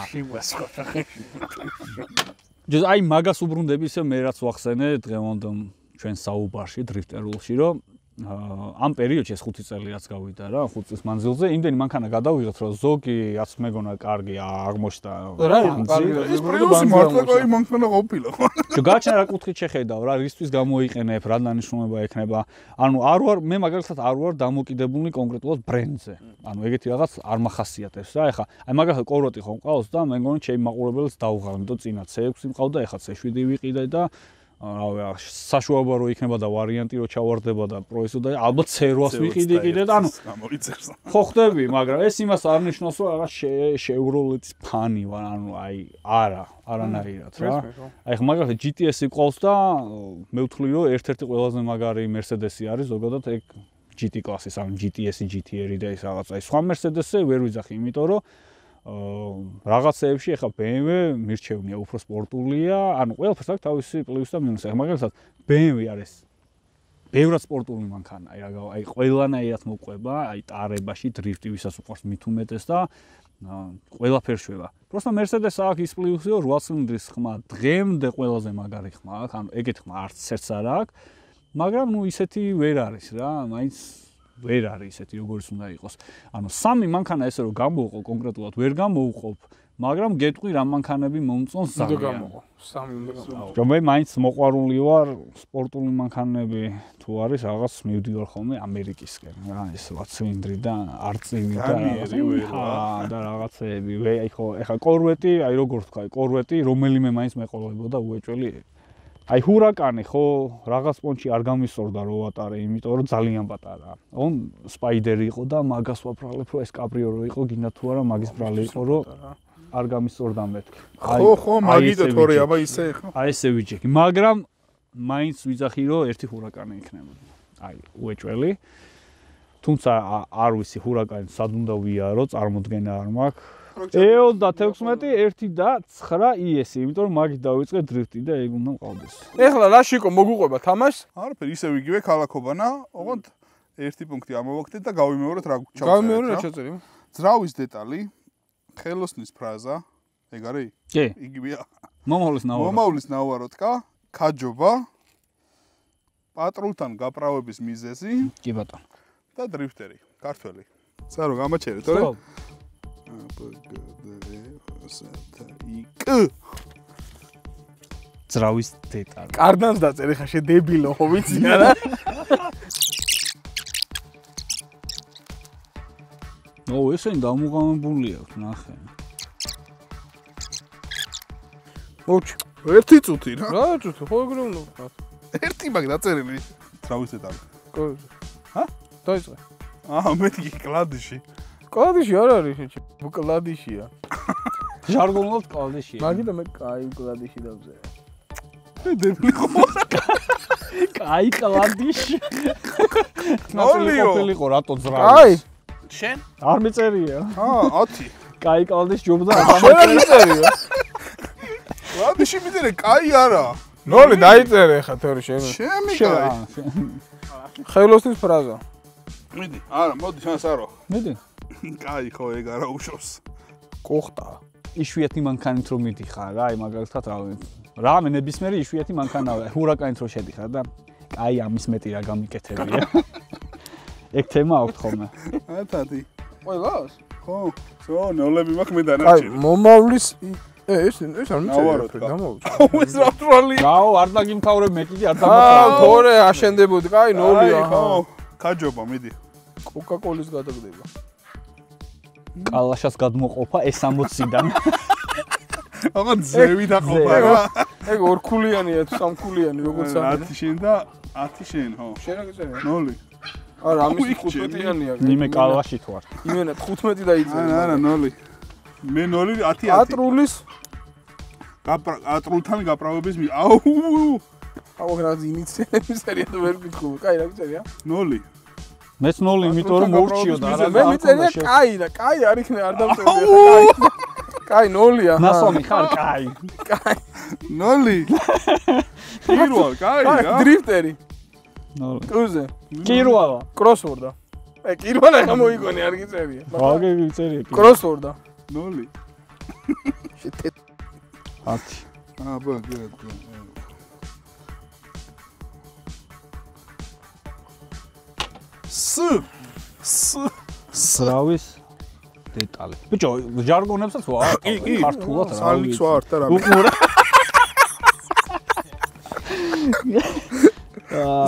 ჯერ აი მაგას უბრუნდები ისე მე რაც ვახსენე დღევანდელ ჩვენ საუბარში დრიფტერულში რომ ამ პერიოდში ეს ხუთი წელიწადს გავიდა რა, ხუთი წლის მანძილზე, იმდენი მანქანა გადავიღეთ, რომ ზოგი რაც მეგონა კარგი აღმოჩნდა. რა, კარგი ეს პრიუსი მართლა კაი მანქანა ყოფილა ხო? ჯო გაჩნდა რა კუთხით შეხედავ რა, რისთვის გამოიყენებ, რა დანიშნულება ექნება. ანუ არ ვარ მე მაგალითად არ ვარ დამოკიდებული კონკრეტულად ბრენდზე. ანუ ეგეთი რაღაც არ მახასიათებს რა. ეხლა აი მაგალითად კოროტი ხომ ყავს და მე მგონი ჩემი მაყურებელს დავღალ, იმიტომ წინა C ექვსი მყავდა, ეხლა C შვიდი ვიყიდე და რა საშუალება რო იქნება და ვარიანტი რო ჩავარდება და პროესო და ალბათ C რვას ვიყიდე კიდე და ანუ გამოიწერს. ხო ხდები, მაგრამ ეს იმას არ ნიშნავს რომ რაღაც შეევროლეთის ფანი ვარ, ანუ აი არა, არანაირად რა. აი ხა მაგალითად G T S-ი ყავს და მე ვთვლი რომ ერთ-ერთი ყველაზე მაგარი Mercedes-ი არის ზოგადად ეგ G T კლასის, ანუ G T S-ი, G T R-ი და ის რაღაცა. აი სხვა Mercedes-ზე ვერ ვიძახი, იმიტომ რომ რაღაცეებში ახლა B M W მირჩევნია, უფრო სპორტულია, ანუ ყველაფერს აქვს თავისი პლუსი და მინუსი. მაგალითად B M W არის ბევრად სპორტული მანქანა, აი რა, აი ყველანაირად მოყვება, აი ტარებაში, დრიფტი ვისაც უყვარს მით უმეტეს და ყველაფერს შვება. Просто Mercedes აქვს ის პლუსი, რომ ორი ცილინდრის ხმა დღემდე ყველაზე მაგარი ხმა აქვს, ანუ ეგეთ ხმა არც ერთს არ აქვს, მაგრამ ნუ ისეთი ვერ არის რა, მაინც ვერ არის ისეთი როგორც უნდა იყოს. ანუ სამი მანქანა ესე რომ გამოვყო კონკრეტულად ვერ გამოვყობ, მაგრამ გეტყვი რა მანქანები მომწონს ძალიან. სამი უნდა გამოვყო. რომ მე მაინც მოყვარული ვარ სპორტული მანქანები თუ არის რაღაც მივდივარ ხოლმე ამერიკისკენ რა ეს ორი ცილინდრი და არწივი და რაღაცა და რაღაცეები. აი ხო ეხა კორვეტი, აი როგორ თქვა, კორვეტი რომელიმე მაინც მეყოლებოდა უეჭველი. აი ჰურაკანი ხო რაღაც პონჩი არ გამისწორდა რო ვატარე, იმიტომ რომ ძალიან პატარაა. On სპაიდერი იყო და მაგას ვაფრალებ რომ ეს კაბრიო რო იყო, გინდა თუ არა მაგის ბრალი იყო რომ არ გამისწორდა მეთქი. ხო ხო მაგიტო თორე აბა ისე ხო. აი ესე ვიჯექი, მაგრამ მაინც ვიძახი რომ ერთი ჰურაკანი იქნებოდა. აი უეჭველი. თუმცა არ ვიცი ჰურაკანი სად უნდა ვიარო, წარმოდგენა არ მაქვს. E ოცდათექვსმეტი ერთი და ცხრა E S, იმიტომ რომ მაგით დავიწყე დრიფტი და ეგ უნდა მყავდეს. ეხლა რა შიკო მოგუყვება თამაშს? არაფერი, ისევ იგივე ქალაქობანა, ოღონდ ერთი პუნქტი ამოვაგდეთ და გავიმეორეთ რა ჩავწერეთ. გავიმეორე რა ჩაწერე? ძრავის დეტალი, ხელოსნის ფრაზა, ეგ არის? კი. იგივეა. მომავლის ნავარო. მომავლის ნავაროტკა, ქაჯობა, პატრულთან გაправების მიზეზი კი ბატონო. და დრიფტერი, ქართველი. სარო გამაჩერე, თორე? ძრავის დეტალი. კარდანს დაწერე ხა შე დებილო ხო ვიცი არა? ნო ესენი დამუღამებული აქვს ნახე. მოჩ. ერთი წუთი რა. რა წუთი ხო ეგრე უნდა ვქნათ. ერთი მაგ დაწერილი. ძრავის დეტალი. კოზე. ჰა? დაიწყე. აა მეთქი კლადიში. კლადიში არ არის შეჭი. კლადიშია. ჟარგონულად კლადიშია. მაგიტო მე კაი კლადიში დავწერე. დებილი ხო? კაი კლადიში. ნოლიო. ყოფილიყო რატო ძრავი? კაი. შენ? არ მიწერია. აა ათი. კაი კლადიში ჯობდა შენ არ მიწერია. კლადიში მიწერე, კაი არა. ნოლი დაიწერე ხა თორე შენ. ჩემი კაი. ხელოსნის ფრაზა. მიდი, არა, მოდი შანსარო. მიდი. კაი ხო ეგ არა უშავს. კოხტა. იშვიათი მანქანით რომ მიდიხარ რა, აი მაგალითად რა რამე ნებისმიერი იშვიათი მანქანაა, ჰურაკანით რომ შედიხარ და კაი ამის მეტი რა გამიკეთებია. ეგ თემა აქვს ხოლმე. ათათი. ყველას? ხო, ხო, ნოლები მაქვს მე კაი, დანარჩენი. მომავლის ე ეს ეს არ მიწერია. გამოვიდა. ეს რა ტროლი. გაო, არ დაგიმთავრებ მე კიდე არ აა, დამთავრებ. თორე აშენდებოდი, კაი, ნოლია. ხო, ქაჯობა, მიდი. კოკაკოლის გადაგდება. კალაშას გადმოყოფა ეს სამოციდან. აღა ზევი დაყოფა რა. ეგ ორქულიანია თუ სამქულიანი როგორც არის. ათი შენ და ათი შენ, ხო. შენ რა გიწერია? ნოლი. არა, ამის ხუთმეტიანია. ნიმე კალაშით ვარ. იმენა ხუთმეტი დაიწერე. არა, არა, ნოლი. მე ნოლი ათი ათი. ატრულის ატრულთან გაправების მი. აუ! აუ რა ინიციატიები სერია თუ ვერ გიქხო. კაი, რა გიწერია? ნოლი. მეც ნოლი, იმიტომ რომ მოურჩიოდა რა. მე მიწერია კაი და კაი არ იქნება, არ დავწერე ხა კაი. კაი, ნოლია. ნასომი ხარ კაი. კაი. ნოლი. პირველ კაი რა. დრიფტერი. ნოლი. კუზე. კირვალა. კროსვორდა. ე კირვალა გამოიგონე არ გიწერია. ვაგე გიწერია. კროსვორდა. ნოლი. შეთე ათი. აბა, გეტ. ს ს ძრავის დეტალი. ბიჭო, ჟარგონებსაც ვარ, ქართულად რა. სალიქს ვარ და რა. უყურე.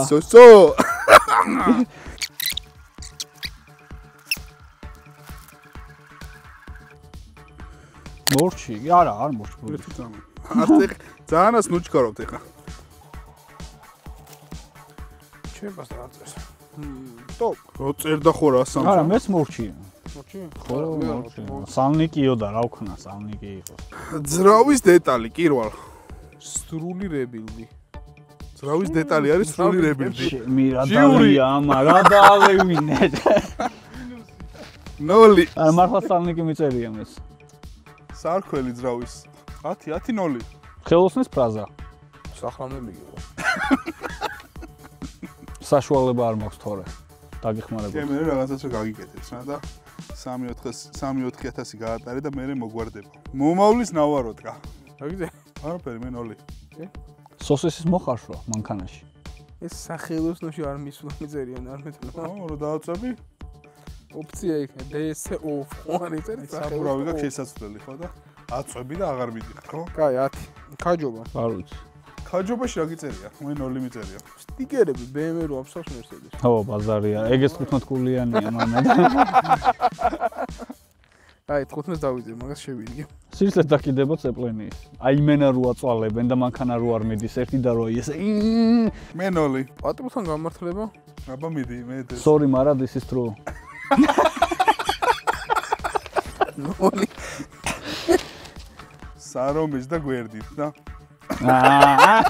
სო სო. მორჩი, არა, არ მორჩი. ათი ძანას ნუჩქარავთ ეხა. ჩემს არ წერს. ტოპ. რო წერდა ხო რა სამ. არა, მეც მორჩი. მოჩი? ხო, მორჩი. სალნიკიო და რა ვქნა, სალნიკი იყო. ძრავის დეტალი, კირვალ. სრული რებილდი. ძრავის დეტალი არის სრული რებილდი. მირა დავია, ამა რა დაავევინეთ. ნოლი. არა, მართლა სალნიკი მიწერია მეც. სარქველი ძრავის. ათი, ათი, ნოლი. ხელოსნის ფრაზა. სახლამდე მიგიღო. საშუალება არ მაქვს თორე. დაგიხმარებოდი. მე მე რაღაცას რა გაგიკეთებს რა და სამი ოთხი ათასი გაატარე და მე მოგვარდება. მომავლის ნავაროდგა. აგიძე? არაფერი, მე ნოლი. სოსისის მოხარშვა მანქანაში. ეს სახელოსნოში არ მისვლა მიწერიან არ მეტყვი. ო, რა დააწები? ოპცია იქნება დე ეს ო ხوارი წერე საბურავი გაქვს შესაძლებელი ხო და აწვები და აღარ მიდიხარ ხო? კაი ათი. ქაჯობა. არ ვიცი. ქაჯობაში რა გიწერია? მე ნოლი მიწერია. სტიკერები ბე ემ რო აფსავს მერსედეს. ხო, ბაზარია. ეგეც თხუთმეტ გულიანია მამა. აი თხუთმეტს დავიძე, მაგას შევიდგე. სირცე დაკიდება წეპლენის. აი მენა რო აწვალებენ და მანქანა რო არ მიდის ერთი და რო ეს. მე ნოლი. პატრონთან გამართლება? აბა მიდი, მე ეს. Sorry, მარა this is true. ნოლი. სარომის და გვერდით და აა.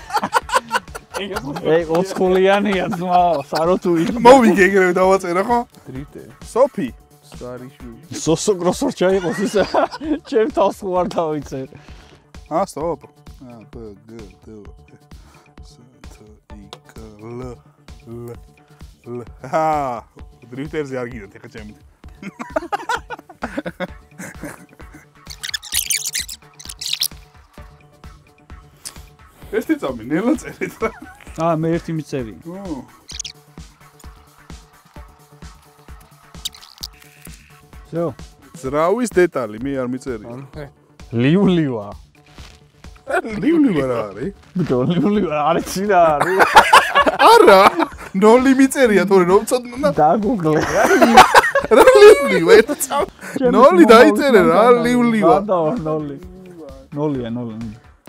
ეი, ოცხულიანია ძმაო, სარო თუ იქ. მოვიგე ეგრევე დავაწერა ხო? დრიტე. სოფი. სტარიშვილი. სოსო გროსორ ჩაიყოს ისა. ჩემ თავს ხო არ დავიცერ. აა, სტოპ. აა, ბ გ დ ს თ ი კ ლ ლ ლ. აა, დრიფტერზე არ გიდათ ეხა ჩემით. ერთი წამი ნელა წერეთ რა. აა, მე ერთი მიწერი. ო. всё. ძრავის დეტალი მე არ მიწერია. ლიულივა. ლიულივ რა არის? ბიჭო, ლიულივა არის რა არის? არა, ნოლი მიწერია თორე რომ ცოდნა. დაგუგლე. რა ლიულივ ერთ წამი. ნოლი დაიწერე რა ლიულივა. და ნოლი. ნოლია, ნოლი.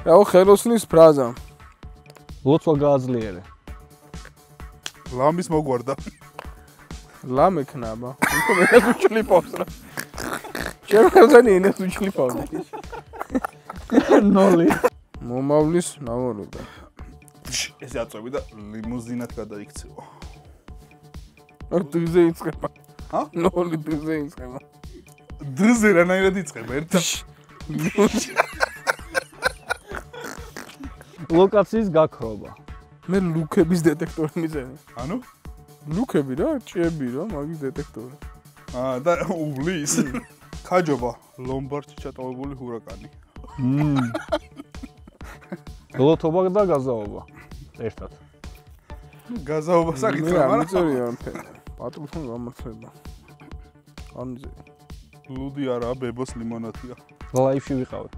რაო ხელოსნის ფრაზა. ლოცვა გააძლიერე. ლამის მოგვარდა. ლამ ეკნაბა. იქო მე უჩლიპავს რა. შემოხელზანი ენას უჩლიპავს. ნოლი. მომავლის ნავაროდგა. ეს აწვევი და ლიმუზინად გადაიქცევა. აქ დზე იწება. ჰა? ნოლი დზე იწება. დზე რანაირად იწება ერთად. ლოკაციის გაქრობა. მე ლუკების დეტექტორი მიწერე. ანუ? ლუკები რა, ჭიები რა, მაგის დეტექტორი. აა და უვლის. ქაჯობა, ლომბარდში ჩატოვებული ჰურაკანი. მმ. გლოთობა და გაზაობა. ერთად. გაზაობა საკითხი არ მაგრამ მიწერია ამფერი. პატრონთან გამართლება. არ მიწერია. ლუდი არა, ბებოს ლიმონათია. ლაიფში ვიყავი.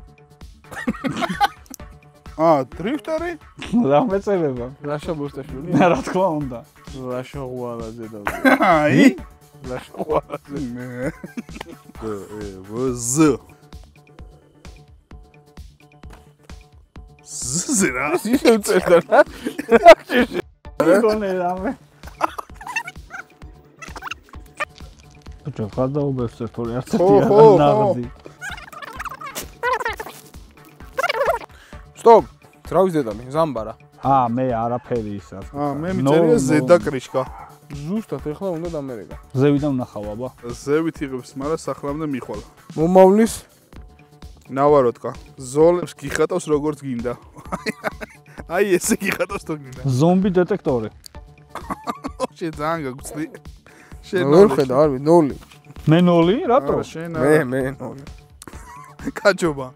აა, დრიფტერი? რა მეწერება? რაშა ბოსტაშვილი? რა თქმა უნდა. რაშა ღვალაზე და აი, რაშა ღვალაზე. მე. ე ვზ. ზზრა. ისე წერდა რა? გონე რამე. ბიჭო, გადაუბევს ერთორი არც ერთი არ ნაღდი. სტოპ. ძრავის დეტალი, ზამბარა. აა, მე არაფერი ის არ. აა, მე მიწერია ზედა კრიშკა. ზუსტად ეხლა უნდა დამერეგა. ზევიდან ვნახავ აბა. ზევით იღებს, მაგრამ სახლამდე მიხვალა. მომავლის ნავაროდგა. ზოლებს გიხატავს როგორც გინდა. აი ესე გიხატავს თუ გინდა. ზომბი დეტექტორი. შე ძალიან გაგწდი. შე ვერ ხედა, არ ვიცი, ნოლი. მე ნოლი, რატო? შენ მე, მე ნოლი. კაჯობა.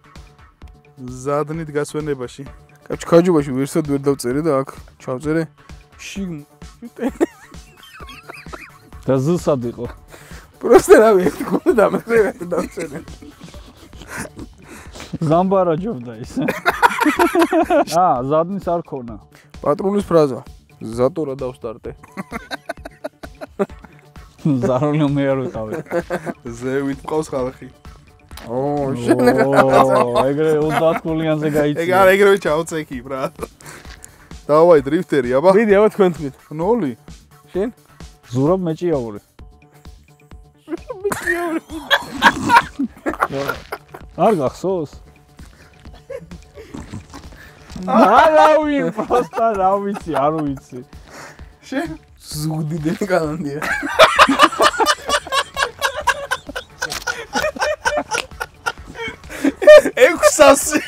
ზადნით გასვენებაში. კაჩ ქაჯობაში ვერსად ვერ დავწერე და აქ ჩავწერე შიგ. და ზუსად იყო. პროსტა რავი, ერთი კონდა დამწერე და დავწერე. ზამბარა ჯობდა ის. აა, ზადნის არ ქონა. პატრონის ფრაზა. ზატორა დავსტარტე. ზაროლი მე არ ვიყავი. ზევით მყავს ხალხი. ო, შენ ო, ეგრე ოცდაათ გულიანზე გაიწია. ეგ არა ეგრევე ჩავწექი, ბრატ. დავაი დრიფტერი, აბა. მიდი, აბა თქვენ თქვით. ნოლი. შენ? ზურაბ მეჭიაური. მეჭიაური. არ გახსოვს? არავი, პროსტა რა ვიცი, არ ვიცი. შენ? ზუგდი დეკალანდია. სასი.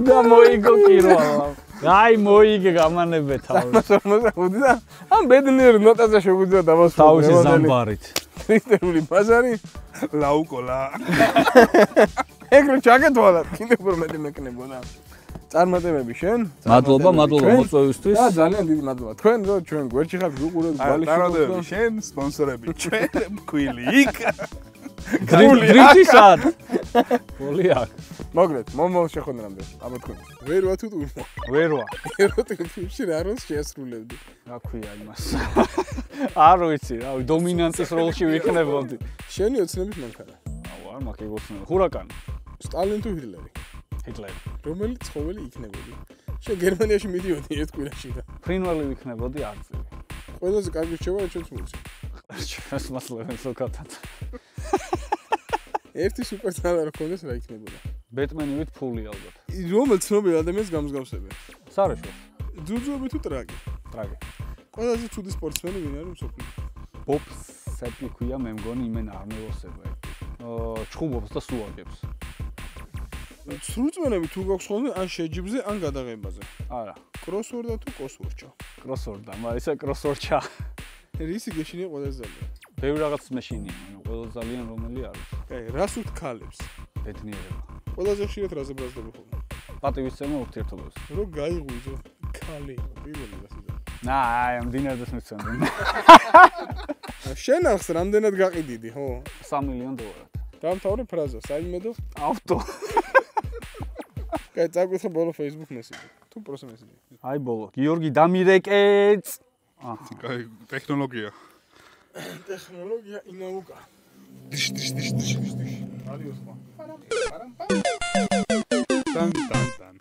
და მოიგო კირვალა. აი მოიგე გამანებე თავი. ორმოცდახუთი და ამ ბედნიერ ნოტაზე შეგვიძლია დავასრულოთ. თავისი ზამბარით. ტრიტერული ბაზარი. ლაუკოლა. ეგრე ჩაგეთვალა, კიდევ უფრო მეტი მეკნებოდა. წარმატებები შენ. მადლობა, მადლობა მოწვევისთვის. და ძალიან დიდი მადლობა. თქვენ რო ჩვენ გვერდში ხართ ვიყურებთ ბალიში. წარმატებები შენ, სპონსორები ჩვენ, მქვილი იქ. დრიფტი სად? პოლი აქ. მოგლეთ, მომავალ შეხვედრამდე. აბა თქვენ. ვერ ვარ თუ თურმო. ვერ ვარ. ეროტიკებში რა როლს შეასრულებდი? რა ქვია იმას? არ ვიცი, რა, დომინანტის როლში ვიქნებოდი. შენი ოცნების მანქანა. აუ, არ მაქვს ეგ ოცნება. ხურაკანი. სტალინი თუ ჰიტლერი? ჰიტლერი. რომელი ცხოველი იქნებოდი? შენ გერმანიაში მიდიოდი ერთ კვირაში და ფრინველი ვიქნებოდი არწივი. ყველაზე კარგი რჩევა ჩვენს მულში. ჩვენს მასლევენ სოკათად. ერთი სუპერსტარი რო ქონდეს რა იქნებოდა? ბეტმენივით ფული ალბათ. რომელ ცნობილ ადამიანს გამსგავსებენ? სარაშო. ძუძუები თუ ტრაგი? ტრაგი. ყველაზე ცუდი სპორტსმენი ვინ არის მსოფლიოში? ბობ სეპი ქვია, მე მგონი იმენ არნევოსება. აა ჩხუბობს და სუაგებს. სრულწმენები თუ გაქვს ხოლმე ან შეჯიბზე ან გადაღებაზე? არა. კროსვორდა თუ კოსვორჩა? კროსვორდა, მაგრამ ისე კროსვორჩა. რისი გეშინია ყველაზე ძალიან? ბევრი რაღაც მეშინია, მაგრამ ყველაზე ძალიან რომელი არის? აი, რას უთქალებს? ბედნიერება. ყველაზე ხშირად რაზე ბრაზდები ხოლმე? პატივისცემა ურთიერთობებს. რო გაიღვიძო ქალი, პირველი რასიდა. ნა, აი, ამ დინერდეს მიცემდნენ. შენ ახს რამდენად გაყიდიდი, ხო? სამი მილიონი დოლარად. დამთავრე ფრაზა, საიმედო? ავტო. კაი, წაგვითხე ბოლო Facebook მესიჯი. თუ პროს მესიჯი. აი ბოლო. გიორგი დამირეკეც. კაი, ტექნოლოგია. ტექნოლოგია ინაუკა. დიშ დიშ დიშ დიშ დიშ. ადიოს ხმა. თან თან თან.